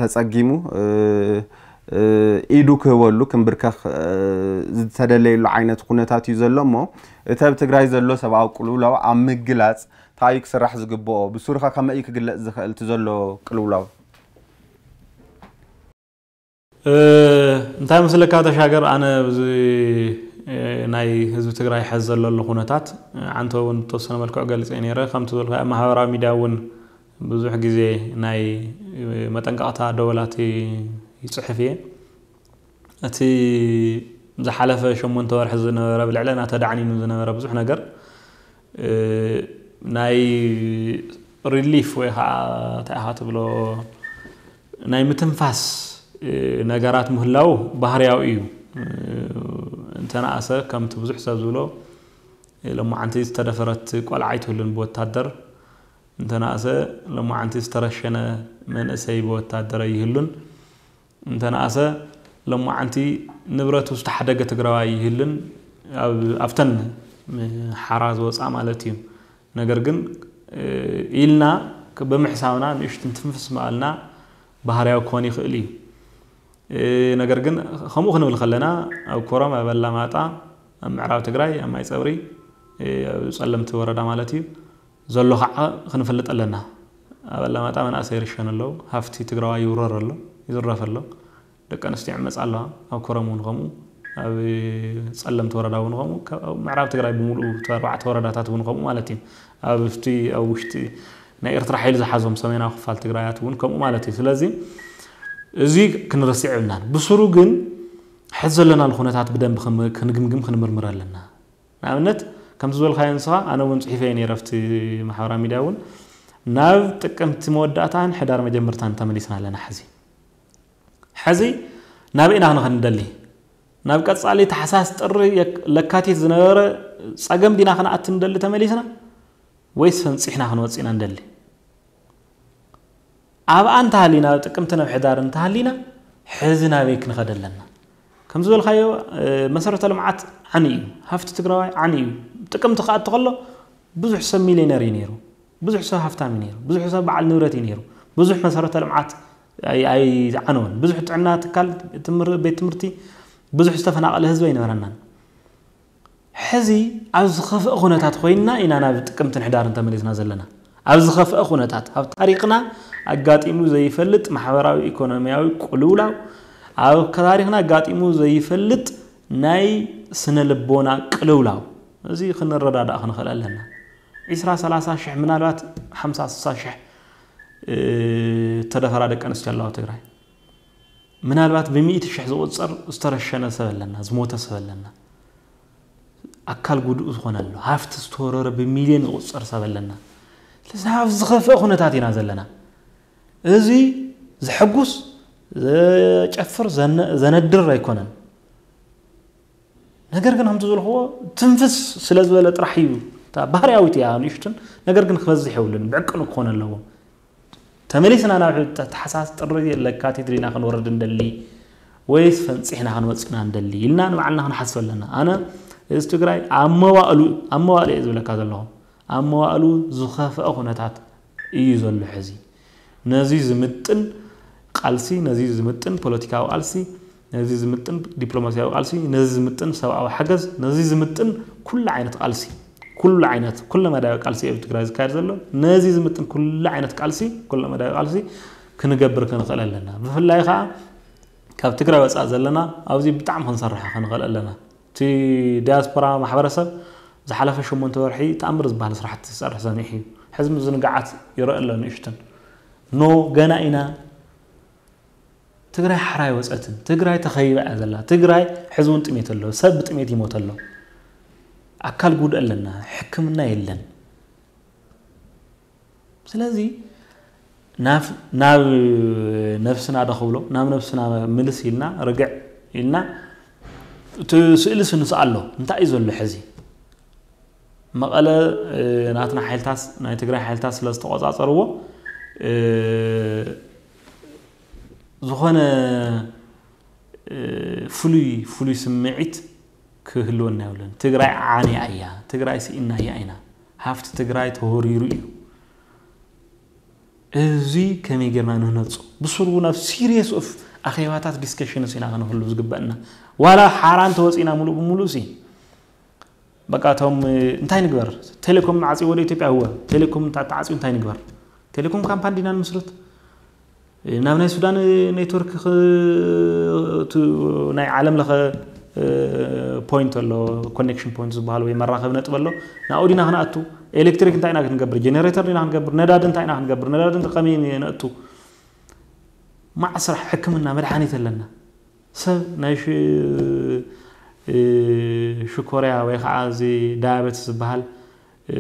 ተፀጊሙ ኢዱ ክህበሉ ክንብርከኽ ዝተደለየሉ ዓይነት ኩነታት እዩ ዘሎ እሞ እቲ ኣብ ትግራይ ዘሎ ሰብኣዊ ቅልውላው ኣብ ምግላፅ እንታይ እዩ ክስራሕ ዝግብኦ ብሱሩኸ ከመይ እዩ ክግለፅ ዝኽእል እቲ ዘሎ ቅልውላው እንታይ መስለካ ተሻገር ኣነ ብዚ ናይ ህዝቢ ትግራይ ሕዚ ዘለሉ ኩነታት ዓንተ እውን ተወሰነ መልክዑ ገሊፀ ነይረ ከም ትበልካ ኣብ ማህበራዊ ሚድያ እውን ብዙሕ ግዜ ናይ መጠንቀቕታ ደወላት ይፅሕፍ እየ እቲ ዝሓለፈ ሸሞንተ ወርሒ ዝነበረ ብልዕለና ተዳዕኒኑ ዝነበረ ብዙሕ ነገር ናይ ሪሊፍ ወይ ከዓ እንታይ ኢኻ ትብሎ ናይ ምትንፋስ ነገራት ምህላው ባህርያዊ እዩ። እንተነኣሰ ከምቲ ብዙሕ ሰብ ዝብሎ ሎማዓንቲ ዝተደፈረት ቆልዓ ኣይትህሉን ብወታደር፣ እንተነኣሰ ሎማዓንቲ ዝተረሸነ መንእሰይ ብወታደር ኣይህሉን፣ እንተነኣሰ ሎማዓንቲ ንብረቱ ዝተሓደገ ትግራዋይ ኣይህልን ኣብተን ሓራ ዝወፃ ማለት እዩ። ነገር ግን ኢልና ብምሕሳብና ንእሽትን ትንፍስ ምባልና ባህርያዊ ክኾን ይኽእል እዩ። ነገር ግን ከምኡ ክንብል ከለና ኣብ ኮረም ኣብ ኣላማጣ ኣብ ምዕራብ ትግራይ ኣብ ማይ ፀብሪ ኣብ ፀለምቲ ወረዳ ማለት እዩ ዘሎ ከዓ ክንፈልጥ ኣለና። ኣብ ኣላማጣ መናእሰይ ይርሸኑ ኣለዉ፣ ሃፍቲ ትግራዋይ ይውረር ኣሎ፣ ይዝረፍ ኣሎ። ደቂ ኣንስትዮ ይዕመፃ ኣለዋ ኣብ ኮረም እውን ከምኡ ኣብ ፀለምቲ ወረዳ እውን ከምኡ ምዕራብ ትግራይ ብምሉኡ እቲ ኣርባዕተ ወረዳታት እውን ከምኡ ማለት እዩ ኣብቲ ኣብ ውሽጢ ናይ ኤርትራ ሓይሊ ዝሓዞም ሰሜናዊ ክፋል ትግራያት እውን ከምኡ ማለት እዩ ስለዚ እዚ ክንረስዕ የብልናን ብስሩ ግን ሕዚ ዘለናሉ ኩነታት ብደንብ ክንግምግም ክንምርምር ኣለና ንኣብነት ከምቲ ዝበልካዮ ንስኻ፣ ኣነ እውን ጽሒፈ ነይረ ኣብቲ ማሕበራዊ ሚድያ እውን፣ ናብ ጥቅምቲ መወዳእታን ሕዳር መጀመርታን ተመሊስና ኣለና። ሕዚ ሕዚ ናብ ኢና ክንኸድ ንደሊ? ናብ ቀጻሊ ታሕሳስ፣ ጥሪ፣ ለካቲት ዝነበረ ጸገም ዲና ክንኣቲ ንደሊ ተመሊስና፣ ወይስ ፈንጺሕና ክንወጽእ ኢና ንደሊ? ኣብኣ እንተሃሊና፣ ኣብ ጥቅምቲ ናብ ሕዳር እንተሃሊና፣ ሕዚ ናበይ ክንኸድ ኣለና? ከም ዝበልካዮ፣ መሰረተ ልምዓት ዓኒ እዩ፣ ሃፍቲ ትግራዋይ ዓኒ እዩ። ጥቅምቲ ክኣቲ ከሎ ብዙሕ ሰብ ሚሊዮነር እዩ ነይሩ፣ ብዙሕ ሰብ ሃፍታም እዩ ነይሩ፣ ብዙሕ ሰብ በዓል ንብረት እዩ ነይሩ። ብዙሕ መሰረተ ልምዓት ኣይዓነወን። ብዙሕ ጥዕና ትካል፣ ቤት ትምህርቲ፣ ብዙሕ ዝተፈናቀለ ህዝቢ ኣይነበረናን። ሕዚ ኣብ ዝኸፍአ ኩነታት ኮይንና ኢና ናብ ጥቅምትን ሕዳርን ተመሊስና ዘለና። ኣብ ዝኸፍአ ኩነታት፣ ኣብ ታሪክና ኣጋጢሙ ዘይፈልጥ ማሕበራዊ ኢኮኖሚያዊ ቅልውላው፣ ኣብ ታሪክና ኣጋጢሙ ዘይፈልጥ ናይ ስነ ልቦና ቅልውላው፣ እዚ ክንረዳዳእ ክንኽእል ኣለና። ዒስራ ሰላሳ ሽሕ፣ ምናልባት ሓምሳ ስሳ ሽሕ ተደፈራ ደቂ ኣንስትዮ ኣለዋ ትግራይ። ምናልባት ብሚእቲ ሽሕ ዝቁጸር ዝተረሸነ ሰብ ኣለና፣ ዝሞተ ሰብ ኣለና፣ ኣካል ጉዱእ ዝኾነ ኣሎ፣ ሃፍቲ ዝተወረረ ብሚልዮን ዝቁጸር ሰብ ኣለና። ስለዚ ኣብ ዝኸፍአ ኩነታት ኢና ዘለና። እዚ ዘሐጉስ፣ ዘጨፍር፣ ዘነ- ዘነድር ኣይኮነን። ነገር ግን ከምቲ ዝበልክዎ ትንፍስ ስለ ዝበለ ጥራሕ እዩ። እታ ባህርያዊት እያ ንእሽትን፣ ነገር ግን ክበዝሕ የብሉን፣ ብዕቅኑ ክኾን ኣለዎ። ተመሊስና ናብ ታሕሳስ፣ ጥሪ፣ ለካቲት ዲና ክንወርድ እንደሊ ወይስ ፈንፂሕና ክንወፅእና እንደሊ ኢልና ንባዕልና ክንሓስብ ኣለና። ኣነ እዚ ትግራይ ኣብ መዋእሉ ኣብ መዋእሉ እየ ዝብለካ ዘለኹ። ኣብ መዋእሉ ዝኸፍአ ኩነታት እዩ ዘሎ ሕዚ። ነዚ ዝምጥን ቃልሲ፣ ነዚ ዝምጥን ፖለቲካዊ ቃልሲ፣ ነዚ ዝምጥን ዲፕሎማሲያዊ ቃልሲ፣ ነዚ ዝምጥን ሰብኣዊ ሓገዝ፣ ነዚ ዝምጥን ኩሉ ዓይነት ቃልሲ፣ ኩሉ ዓይነት ኩለ መዳያዊ ቃልሲ ኣብ ትግራይ ዝካየድ ዘሎ፣ ነዚ ዝምጥን ኩሉ ዓይነት ቃልሲ፣ ኩለ መዳያዊ ቃልሲ ክንገብር ክንኽእል ኣለና። ብፍላይ ከዓ ካብ ትግራይ ወፃእ ዘለና ኣብዚ ብጣዕሚ ክንሰርሕ ክንኽእል ኣለና። እቲ ዲያስፖራ ማሕበረሰብ ዝሓለፈ ሸሞንተ ወርሒ ተኣምር ዝበሃል ስራሕቲ ዝሰርሕ ሰኒሑ እዩ። ሕዚ ምዝንጋዓት ይረአ ኣሎ ንእሽትን። ኖ፣ ገና ኢና። ትግራይ ሓራ ኣይወፀትን። ትግራይ ተኸቢባ እያ ዘላ። ትግራይ ሕዚ እውን ጥሜት ኣሎ። ሰብ ብጥሜት ይሞት ኣሎ። ኣካል ጉድ ኣለና። ሕክምና የለን። ስለዚ ናብ ናብ ነብስና ዶ ክብሎ፣ ናብ ነብስና ምልስ ኢልና፣ ርግዕ ኢልና፣ እቲ ስእሊ ስንስኣሎ እንታይ እዩ ዘሎ ሕዚ? መቐለ፣ እ፣ ናትና ሓይልታት፣ ናይ ትግራይ ሓይልታት ስለ ዝተቆጻጸርዎ፣ እ፣ ዝኾነ፣ እ፣ ፍሉይ ፍሉይ ስምዒት ክህልወና የብለን። ትግራይ ዓንያ እያ፣ ትግራይ ስኢናያ ኢና፣ ሃፍቲ ትግራይ ተወሪሩ እዩ። እዚ ከመይ ጌርና ንህነፁ? ብስሩ እውን ኣብ ሲሪየስ ኦፍ ኣኼባታት፣ ዲስከሽንስ ኢና ከነህሉ ዝግበአና። ዋላ ሓራ እንተወፂና ሙሉእ ብሙሉእ ሲ፣ በቃ እቶም፣ እንታይ ንግበር? ቴሌኮም ዓፂዎ ወደ ኢትዮጵያ? እወ። ቴሌኮም እንተ- ተዓፅዩ እንታይ ንግበር? ቴሌኮም ካምፓኒ ዲና ንምስርት? ናብ ናይ ሱዳን ኔትወርክ ክ- ቱ- ናይ ዓለም ለኸ፣ እ፣ ፖይንት ኣሎ፣ ኮኔክሽን ፖይንት ዝበሃል ወይ መራኸቢ ነጥቢ ኣሎ። ናብኡ ዲና ክንኣቱ? ኤሌክትሪክ እንታይ ኢና ክንገብር? ጀኔሬተር ዲና ክንገብር? ነዳዲ እንታይ ኢና ክንገብር? ነዳዲ እንተ ከመይ ነእቱ? ማዕ ስራሕ፣ ሕክምና፣ መድሓኒት ኣለና። ሰብ ናይ ሽ- እ፣ ሽኮርያ ወይ ከዓ እዚ ዳያበትስ ዝበሃል፣ እ፣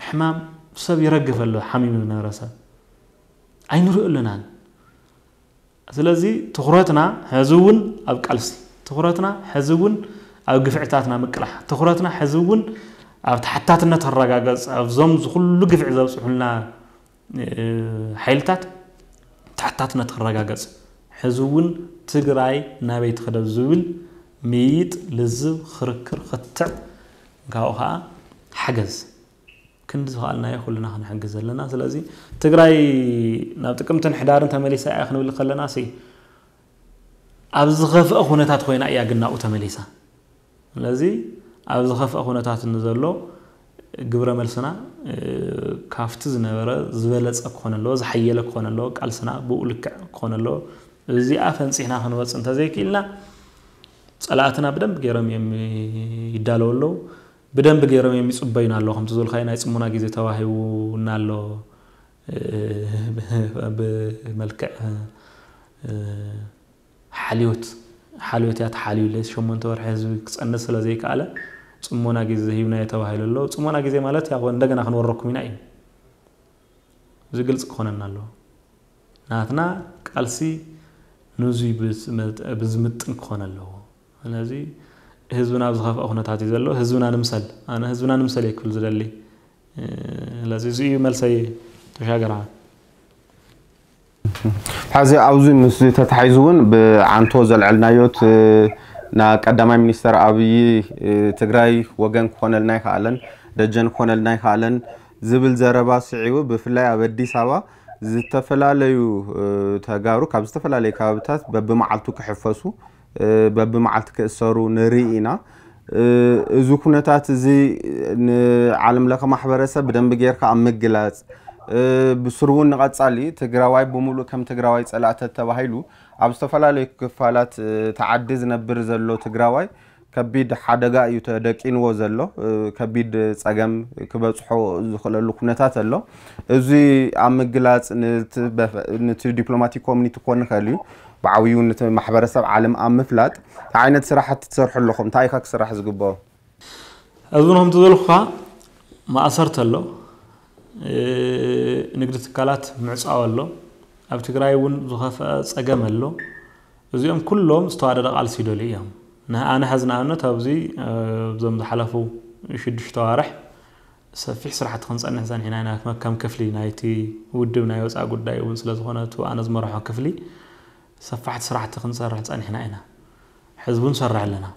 ሕማም ሰብ ይረግፍ ኣሎ፣ ሓሚሙ ዝነበረ ሰብ ኣይንሪኦ ኣለናን። ስለዚ ትኹረትና ሕዚ እውን ኣብ ቃልሲ፣ ትኹረትና ሕዚ እውን ኣብ ግፍዕታትና ምቅላሕ፣ ትኹረትና ሕዚ እውን ኣብ ተሓታትነት ክረጋገፅ፣ ኣብዞም ዝኩሉ ግፍዒ ዘብፅሑልና፣ እ፣ ሓይልታት ተሓታትነት ክረጋገፅ፣ ሕዚ እውን ትግራይ ናበይ ትኽደብ ዝብል ምይይጥ፣ ልዝብ፣ ክርክር፣ ክትዕ፣ ካብኡ ከዓ ሓገዝ። ክንዲ ዝኸኣልናዮ ኩልና ክንሕግዝ ዘለና። ስለዚ ትግራይ ናብ ጥቅምትን ሕዳርን ተመሊሳ እያ ክንብል ከለና ሲ፣ ኣብ ዝኸፍአ ኩነታት ኮይና እያ ግን ናብኡ ተመሊሳ። ስለዚ ኣብ ዝኸፍአ ኩነታት ንዘሎ ግብረ መልስና፣ እ፣ ካብቲ ዝነበረ ዝበለጸ ክኾን ኣለዎ፣ ዝሓየለ ክኾን ኣለዎ፣ ቃልስና ብኡ ልክዕ ክኾን ኣለዎ። እዚኣ ፈንፂሕና ክንወፅ እንተዘይክኢልና፣ ጸላእትና ብደንብ ገይሮም እዮም ይዳለዉ ኣለዉ። ብደንብ ገይሮም እዮም ይጽበዩና ኣለዉ። ከምቲ ዝበልካዮ ናይ ጽሞና ግዜ ተዋሂቡና ኣሎ። እ፣ ብመልክዕ፣ እ፣ ሓልዮት፣ ሓልዮት እያ ተሓልዩለይ። ሸሞንተ ወርሒ ህዝቢ ክጸንት ስለ ዘይከኣለ፣ ጽሞና ግዜ ሂብናዮ ተባሂሉ ኣሎ። ጽሞና ግዜ ማለት ያው እንደገና ክንወረኩም ኢና እዩ። እዚ ግልጽ ክኾነና ኣለዎ። ናትና ቃልሲ ንዙይ ብዝምጥ- ብዝምጥን ክኾን ኣለዎ። ስለዚ ህዝብና ኣብ ዝኸፍአ ኩነታት እዩ ዘሎ። ህዝብና ንምሰል፣ ኣነ ህዝብና ንምሰል እየ ክብል ዝደሊ። ስለዚ እዚ እዩ መልሰይ። ተሻገራ። ሕዚ ኣብዚ ምስ ተታሒዙ እውን ብዓንቶ ዘልዐልናዮት ና ቀዳማይ ሚኒስተር ኣብይ ትግራይ ወገን ክኾነልና ይኽኣለን፣ ደጀን ክኾነልና ይኽኣለን ዝብል ዘረባ ስዒቡ፣ ብፍላይ ኣብ ኣዲስ ኣበባ ዝተፈላለዩ ተጋሩ ካብ ዝተፈላለዩ ከባብታት በብመዓልቱ ክሕፈሱ፣ በብመዓልቲ ክእሰሩ ንርኢ ኢና። እዚ ኩነታት እዚ ንዓለም ለኸ ማሕበረሰብ ብደንቢ ጌርካ ኣብ ምግላፅ፣ ብስሩ እውን ንቐፃሊ ትግራዋይ ብምሉእ ከም ትግራዋይ ፀላእተ ተባሂሉ ኣብ ዝተፈላለዩ ክፋላት ተዓዲ ዝነብር ዘሎ ትግራዋይ ከቢድ ሓደጋ እዩ ተደቂንዎ ዘሎ። ከቢድ ፀገም ክበፅሖ ዝኽእለሉ ኩነታት ኣሎ። እዚ ኣብ ምግላፅ ንቲ ዲፕሎማቲክ ኮሚኒቲ ክኾን ይኽእል እዩ፣ ብዓብዩ ንቲ ማሕበረሰብ ዓለም ኣብ ምፍላጥ እንታይ ዓይነት ስራሕቲ ትሰርሑ ኣለኹም? እንታይ ኢኻ ክስራሕ ዝግበኦ? እዚ እውን ከምቲ ዝበልኩኻ ማእሰርቲ ኣሎ፣ ንግዲ ትካላት ምዕፃው ኣሎ፣ ኣብ ትግራይ እውን ዝኸፍአ ፀገም ኣሎ። እዚኦም ኩሎም ዝተዋደደ ቃልሲ ይደልዩ እዮም። ኣነ ሕዚ ንኣብነት ኣብዚ እዞም ዝሓለፉ ሽዱሽተ ኣዋርሕ ሰፊሕ ስራሕቲ ክንፀንሕ ፀኒሕና ኢና። ከም ክፍሊ ናይቲ ውድብ ናይ ወፃኢ ጉዳይ እውን ስለዝኾነ እቲ ኣነ ዝመርሖ ክፍሊ ሰፋሕቲ ስራሕቲ ክንሰርሕ ፀኒሕና ኢና። ሕዚ እውን ንሰርሕ ኣለና።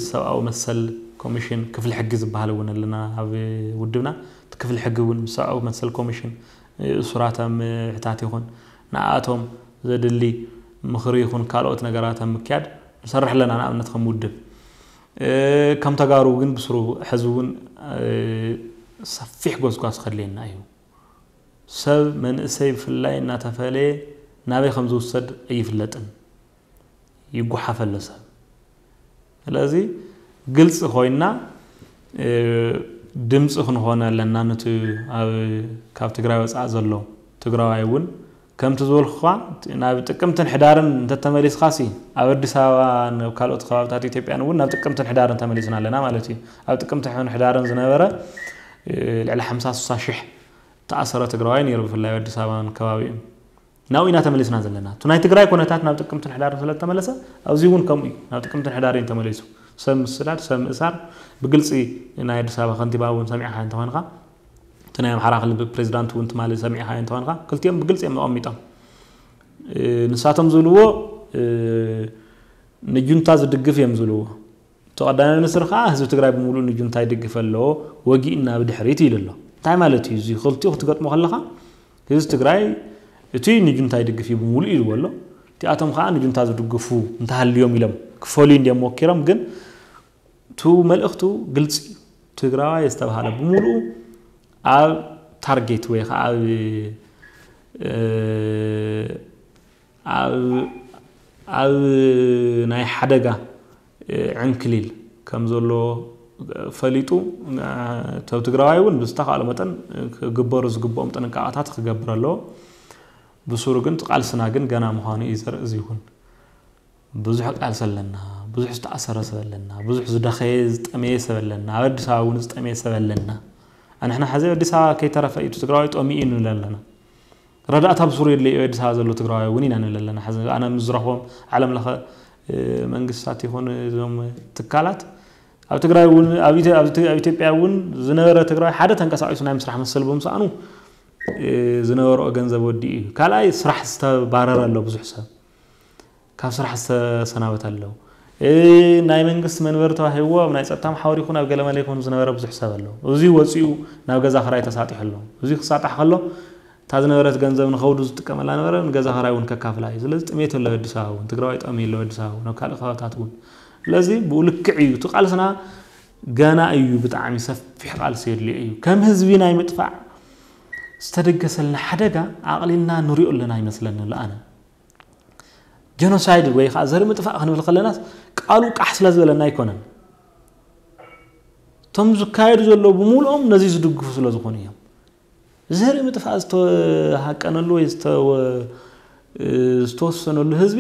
ሰብኣዊ መሰል ኮሚሽን ክፍሊ ሕጊ ዝበሃል እውን ኣለና ኣብ ውድብና። እቲ ክፍሊ ሕጊ እውን ምስ ሰብኣዊ መሰል ኮሚሽን እሱራት ኣብ ምሕታት ይኹን ንኣቶም ዘድሊ ምኽሪ ይኹን ካልኦት ነገራት ኣብ ምክያድ ንሰርሕ ኣለና። ንኣብነት ከም ውድብ ከም ተጋሩ ግን ብስሩ ሕዚ እውን ሰፊሕ ጎስጓስ ከድልየና እዩ። ሰብ መንእሰይ ብፍላይ እናተፈለየ ናበይ ከም ዝውሰድ ኣይፍለጥን፣ ይጓሓፍ ኣሎ ሰብ። ስለዚ ግልፂ ኮይና ድምፂ ክንኾን ኣለና። ነቲ ኣብ ካብ ትግራይ ወፃኢ ዘሎ ትግራዋይ እውን ከምቲ ዝበልኩኻ ናብ ጥቅምትን ሕዳርን እንተተመሊስኻሲ ኣብ ኣዲስ ኣበባ ናብ ካልኦት ከባብታት ኢትዮጵያን እውን ናብ ጥቅምትን ሕዳርን ተመሊስና ኣለና ማለት እዩ። ኣብ ጥቅምትን ሕዳርን ዝነበረ ልዕሊ ሓምሳ ስሳ ሽሕ ተኣሰረ ትግራዋይ ነይሩ፣ ብፍላይ ኣብ ኣዲስ ኣበባን ከባቢኡን። ናብኡ ኢና ተመሊስና ዘለና። እቲ ናይ ትግራይ ኩነታት ናብ ጥቅምትን ሕዳርን ስለተመለሰ ኣብዚ እውን ከምኡ እዩ። ናብ ጥቅምትን ሕዳርን ተመሊሱ ሰብ ምስዳድ፣ ሰብ ምእሳር ብግልፂ ናይ ኣዲስ ኣበባ ከንቲባ እውን ሰሚዕኻ እንተኾንካ፣ እቲ ናይ ኣምሓራ ክልል ፕሬዚዳንት እውን ትማሊ ሰሚዕኻ እንተኾንካ ክልቲኦም ብግልፂ እዮም ኣቐሚጦም። ንሳቶም ዝብልዎ ንጁንታ ዝድግፍ እዮም ዝብልዎ። እቲ ቀዳማይ ሚኒስትር ከዓ ህዝቢ ትግራይ ብምሉእ ንጁንታ ይድግፍ ኣሎ፣ ወጊእና ብድሕሪት ኢሉ ኣሎ። እንታይ ማለት እዩ እዚ? ክልቲኡ ክትገጥሞ ከለኻ ህዝቢ ትግራይ እቲ ንጁንታ ይድግፍ እዩ ብምሉእ ኢልዎ ኣሎ። እቲኣቶም ከዓ ንጁንታ ዝድግፉ እንተሃልዮም ኢሎም ክፈልዩ እንዲዮም ሞኪሮም። ግን እቲ መልእኽቱ ግልፂ እዩ። ትግራዋይ ዝተባሃለ ብምሉኡ ኣብ ታርጌት ወይ ከዓ ኣብ ኣብ ናይ ሓደጋ ዕንክሊል ከም ዘሎ ፈሊጡ፣ እቲ ትግራዋይ እውን ብዝተኻእሎ መጠን ክግበሩ ዝግብኦም ጥንቃቐታት ክገብር ኣለዎ። ብሱሩ ግን እቲ ቃልስና ግን ገና ምዃኑ እዩ ዘርኢ። እዚ እውን ብዙሕ ቃልሲ ኣለና፣ ብዙሕ ዝተኣሰረ ሰብ ኣለና፣ ብዙሕ ዝደኸየ ዝጠመየ ሰብ ኣለና፣ ኣብ ኣዲስ ኣበባ እውን ዝጠመየ ሰብ ኣለና። ኣንሕና ሕዚ ኣብ ኣዲስ ኣበባ ከይተረፈ እዩ እቲ ትግራዋይ ጠሚኡ ንብል ኣለና። ረዳእታ ብሱሩ የድልዮ እዩ ኣዲስ ኣበባ ዘሎ ትግራዋይ እውን ኢና ንብል ኣለና። ሕዚ ኣነ ምስ ዝረኽቦም ዓለም ለኸ መንግስታት ይኹን እዞም ትካላት ኣብ ትግራይ እውን ኣብ ኢትዮ- ኣብ ኢትዮ- ኣብ ኢትዮጵያ እውን ዝነበረ ትግራዋይ ሓደ ተንቀሳቒሱ ናይ ምስራሕ መሰል ብምስኣኑ ዝነበረኦ ገንዘብ ወዲኡ እዩ። ካልኣይ ስራሕ ዝተባረረ ኣሎ ብዙሕ ሰብ ካብ ስራሕ ዝተሰናበተ ኣለዉ። ናይ መንግስቲ መንበሪ ተዋሂብዎ ኣብ ናይ ፀጥታ መሓውር ይኹን ኣብ ገለመለ ይኹን ዝነበረ ብዙሕ ሰብ ኣሎ። እዚ ወፂኡ ናብ ገዛ ክራይ ተሳጢሑ ኣሎ። እዚ ክሳጣሕ ከሎ እታ ዝነበረት ገንዘብ ንኸውዱ ዝጥቀመላ ነበረ ንገዛ ክራይ እውን ከካፍላ እዩ። ስለዚ ጥሜት ኣሎ ኣዲስ ኣበባ እውን ትግራዋይ ጠሚ ኣሎ ኣዲስ ኣበባ እውን ኣብ ካልእ ከባብታት እውን። ስለዚ ብኡ ልክዕ እዩ እቲ ቃልስና ገና እዩ ብጣዕሚ ሰፊሕ ቃልሲ የድልዮ እዩ። ከም ህዝቢ ናይ ምጥፋእ ዝተደገሰልና ሓደጋ ኣቕሊልና ንሪኦ ኣለና ይመስለኒ ኣሎ ኣነ። ጀኖሳይድ ወይ ከዓ ዘርኢ ምጥፋእ ክንብል ከለናስ ቃሉ ቃሕ ስለ ዝበለና ኣይኮነን። እቶም ዝካየዱ ዘለዉ ብምሉኦም ነዚ ዝድግፉ ስለ ዝኾኑ እዮም። ዘርኢ ምጥፋእ ዝተሃቀነሉ ወይ ዝተወ- ዝተወሰነሉ ህዝቢ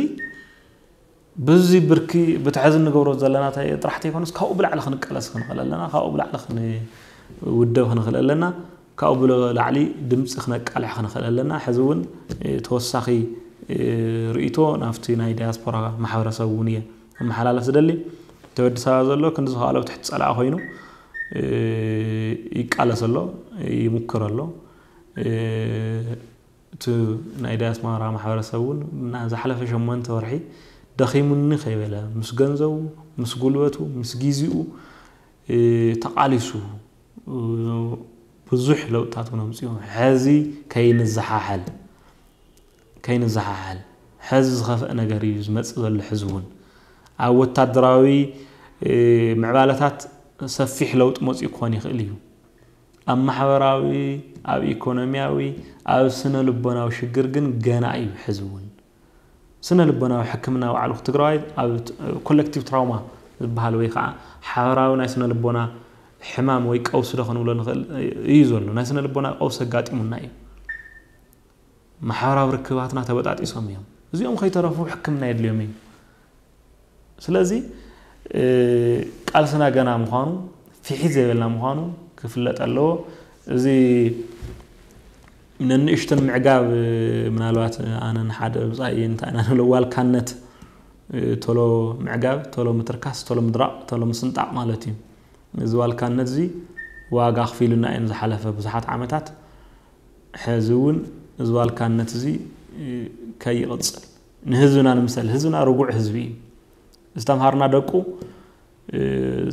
ብዚ ብርኪ ብትሕዚ እንገብሮ ዘለና እንታይ ጥራሕ ተይኮነስ ካብኡ ብላዕሊ ክንቃለስ ክንኽእል ኣለና፣ ካብኡ ብላዕሊ ክንውደብ ክንኽእል ኣለና፣ ካብኡ ብላዕሊ ድምፂ ክነቃልሕ ክንኽእል ኣለና። ሕዚ እውን ተወሳኺ ርእይቶ ናብቲ ናይ ዳያስፖራ ማሕበረሰብ እውን እየ ኣመሓላልፍ ዝደሊ። እቲ ወዲ ሰባ ዘሎ ክንዲ ዝኸኣሎ ብትሕቲ ፀላኢ ኮይኑ ይቃለስ ኣሎ፣ ይምክር ኣሎ። እቲ ናይ ዳያስፖራ ማሕበረሰብ እውን ዝሓለፈ ሸሞንተ ወርሒ ደኺሙኒ ከይበለ ምስ ገንዘቡ፣ ምስ ጉልበቱ፣ ምስ ግዜኡ ተቃሊሱ ብዙሕ ለውጥታት እውን ኣምፅኡ። ሕዚ ከይንዘሓሓል ከይንዘሓሓል ሕዚ ዝኸፍአ ነገር እዩ ዝመፅእ ዘሎ። ሕዚ እውን ኣብ ወታደራዊ ምዕባለታት ሰፊሕ ለውጢ መፅኡ ክኾን ይኽእል እዩ። ኣብ ማሕበራዊ፣ ኣብ ኢኮኖሚያዊ፣ ኣብ ስነ ልቦናዊ ሽግር ግን ገና እዩ። ሕዚ እውን ስነ ልቦናዊ ሕክምና ባዕሉ ትግራዋይ ኣብ ኮሌክቲቭ ትራውማ ዝበሃል ወይ ከዓ ሓበራዊ ናይ ስነ ልቦና ሕማም ወይ ቀውሲ ዶ ክንብሎ ንኽእል እዩ ዘሎ። ናይ ስነ ልቦና ቀውሲ ኣጋጢሙና እዩ። ማሕበራዊ ርክባትና ተበጣጢሶም እዮም። እዚኦም ከይተረፉ ሕክምና የድልዮም እዩ። ስለዚ ቃልስና ገና ምዃኑ፣ ፍሒት ዘይበልና ምዃኑ ክፍለጥ ኣለዎ። እዚ ነንእሽተን ምዕጋብ፣ ምናልባት ኣነን ሓደ ብፃይ እንታይ ኢና ንብሎ ዋልካነት፣ ቶሎ ምዕጋብ፣ ቶሎ ምትርካስ፣ ቶሎ ምድራቕ፣ ቶሎ ምስንጣቕ ማለት እዩ። እዚ ዋልካነት እዚ ዋጋ ኣኽፊሉና እዩ ዝሓለፈ ብዙሓት ዓመታት። ሕዚ እውን እዚ ዋልካነት እዚ ከይቕፅል ንህዝብና ንምሰል። ህዝብና ርጉዕ ህዝቢ እዩ። ዝተምሃርና ደቁ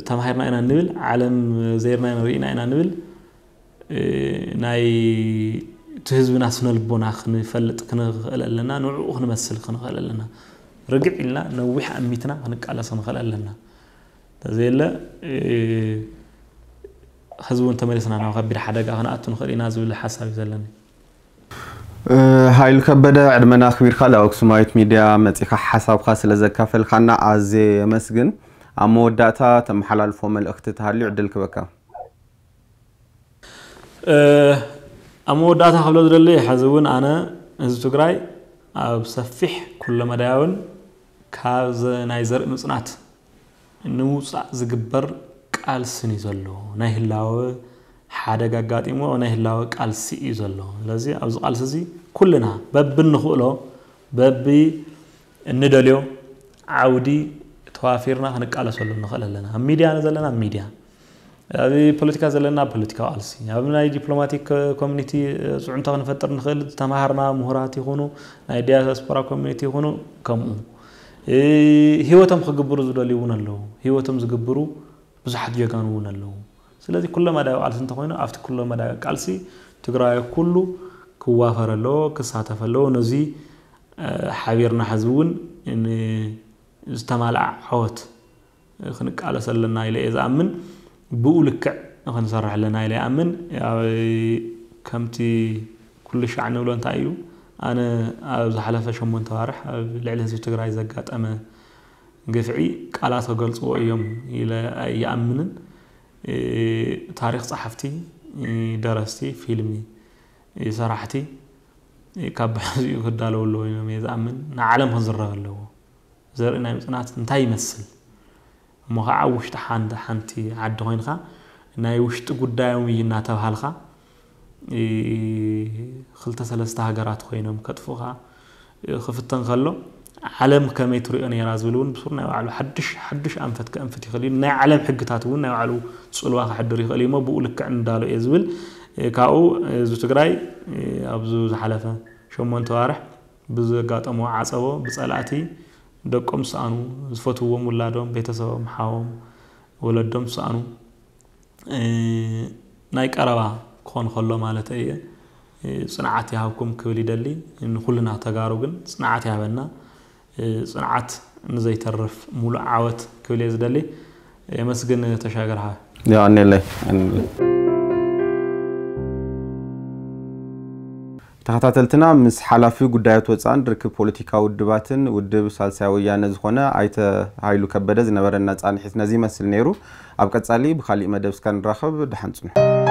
ተማሂርና ኢና ንብል፣ ዓለም ዘይርና ኢና ርኢና ኢና ንብል። ናይ እቲ ህዝብና ስነ ልቦና ክንፈልጥ ክንኽእል ኣለና፣ ንዕኡ ክንመስል ክንኽእል ኣለና። ርግዕ ኢልና ነዊሕ ኣሚትና ክንቃለስ ክንኽእል ኣለና። እንተዘየለ ህዝቢ እውን ተመሊስና ናብ ከቢድ ሓደጋ ክንኣቱ ንኽእል ኢና ዝብል ሓሳብ እዩ ዘለኒ። ሃይሉ ከበደ፣ ዕድመና ኣኽቢርካ ናብ ኣክሱማዊት ሚድያ መፂኻ ሓሳብካ ስለ ዘካፈልካና ኣዝየ የመስግን። ኣብ መወዳእታ ተመሓላልፎ መልእኽቲ ተሃልዩ ዕድል ክበካ። ኣብ መወዳእታ ክብሎ ዝደሊ፣ ሕዚ እውን ኣነ ህዝቢ ትግራይ ኣብ ሰፊሕ ኩለመዳያውን ካብ ናይ ዘርኢ ምፅናት ንምውፃእ ዝግበር ቃልስን እዩ ዘሎ። ናይ ህላወ ሓደጋ ኣጋጢሞ ናይ ህላወ ቃልሲ እዩ ዘሎ። ስለዚ ኣብዚ ቃልሲ እዚ ኩልና በብንኽእሎ በቢ እንደልዮ ዓውዲ ተዋፊርና ክንቃለሰሉ ንኽእል ኣለና። ኣብ ሚድያ ዘለና ኣብ ሚድያ፣ ኣብ ፖለቲካ ዘለና ኣብ ፖለቲካዊ ቃልሲ፣ ኣብ ናይ ዲፕሎማቲክ ኮሚኒቲ ፅዕንቶ ክንፈጥር ንኽእል፣ ዝተምሃርና ምሁራት ይኹኑ ናይ ዲያስፖራ ኮሚኒቲ ይኹኑ ከምኡ ህይወቶም ክግብሩ ዝደልዩ እውን ኣለዉ። ህይወቶም ዝግብሩ ብዙሓት ጀጋኑ እውን ኣለዉ። ስለዚ ኩለመዳያዊ ቃልሲ እንተኾይኑ ኣብቲ ኩለመዳያዊ ቃልሲ ትግራይ ኩሉ ክዋፈር ኣለዎ፣ ክሳተፍ ኣለዎ። ነዚ ሓቢርና ሕዚ እውን ዝተማልኣ ዓወት ክንቃለስ ኣለና ኢለ እየ ዝኣምን። ብኡ ልክዕ ክንሰርሕ ኣለና ኢለ ይኣምን። ከምቲ ኩሉ ሻዕ ንብሎ እንታይ እዩ፣ ኣነ ኣብ ዝሓለፈ ሸሞንተ ዋርሕ ኣብ ልዕሊ ህዝቢ ትግራይ ዘጋጠመ ግፍዒ ቃላት ክገልፅዎ እዮም ኢለ ኣይኣምንን። ታሪክ ፀሓፍቲ፣ ደረስቲ፣ ፊልሚ ሰራሕቲ ካብ ብሕዚኡ ክዳለወሉ ኮይኖም እየ ዝኣምን። ንዓለም ክዝረብ ኣለዎ። ዘርኢ ናይ ምፅናት እንታይ ይመስል እሞ ከዓ ኣብ ውሽጢ ሓንቲ ሓንቲ ዓዲ ኮይንካ ናይ ውሽጢ ጉዳዮም እዩ እናተባሃልካ ክልተ ሰለስተ ሃገራት ኮይኖም ከጥፉኻ ክፍተን ከሎ ዓለም ከመይ ትሪኦ ነይራ ዝብል እውን ብሱር ናይ ባዕሉ ሓዱሽ ሓዱሽ ኣንፈት ከእንፍት ይኽእል እዩ። ናይ ዓለም ሕግታት እውን ናይ ባዕሉ ፅልዋ ክሕድር ይኽእል እዩ እሞ ብኡ ልክዕ ንዳሎ እየ ዝብል። ካብኡ ህዝቢ ትግራይ ኣብዚ ዝሓለፈ ሸሞንተ ዋርሕ ብዘጋጠሞ ዓፀቦ ብፀላእቲ ደቆም ዝሰኣኑ፣ ዝፈትውዎም ውላዶም፣ ቤተሰቦም፣ ሓዎም፣ ወለዶም ዝሰኣኑ ናይ ቀረባ ክኾን ከሎ ማለት እየ። ፅንዓት ይሃብኩም ክብል ይደሊ። ንኩልና ተጋሩ ግን ፅንዓት ይሃበና። ፅንዓት ንዘይተርፍ ሙሉእ ዓወት ክብል እየ ዝደሊ። የመስግን ተሻገር ሓወይ። የቐንየለይ። ተኸታተልትና፣ ምስ ሓላፊ ጉዳያት ወፃእን ርክብ ፖለቲካዊ ውድባትን ውድብ ሳልሳይ ወያነ ዝኾነ ኣይተ ሃይሉ ከበደ ዝነበረና ፃንሒት ነዚ ይመስል ነይሩ። ኣብ ቀፃሊ ብካሊእ መደብ እስካ ንራኸብ፣ ደሓን ፅንሑ።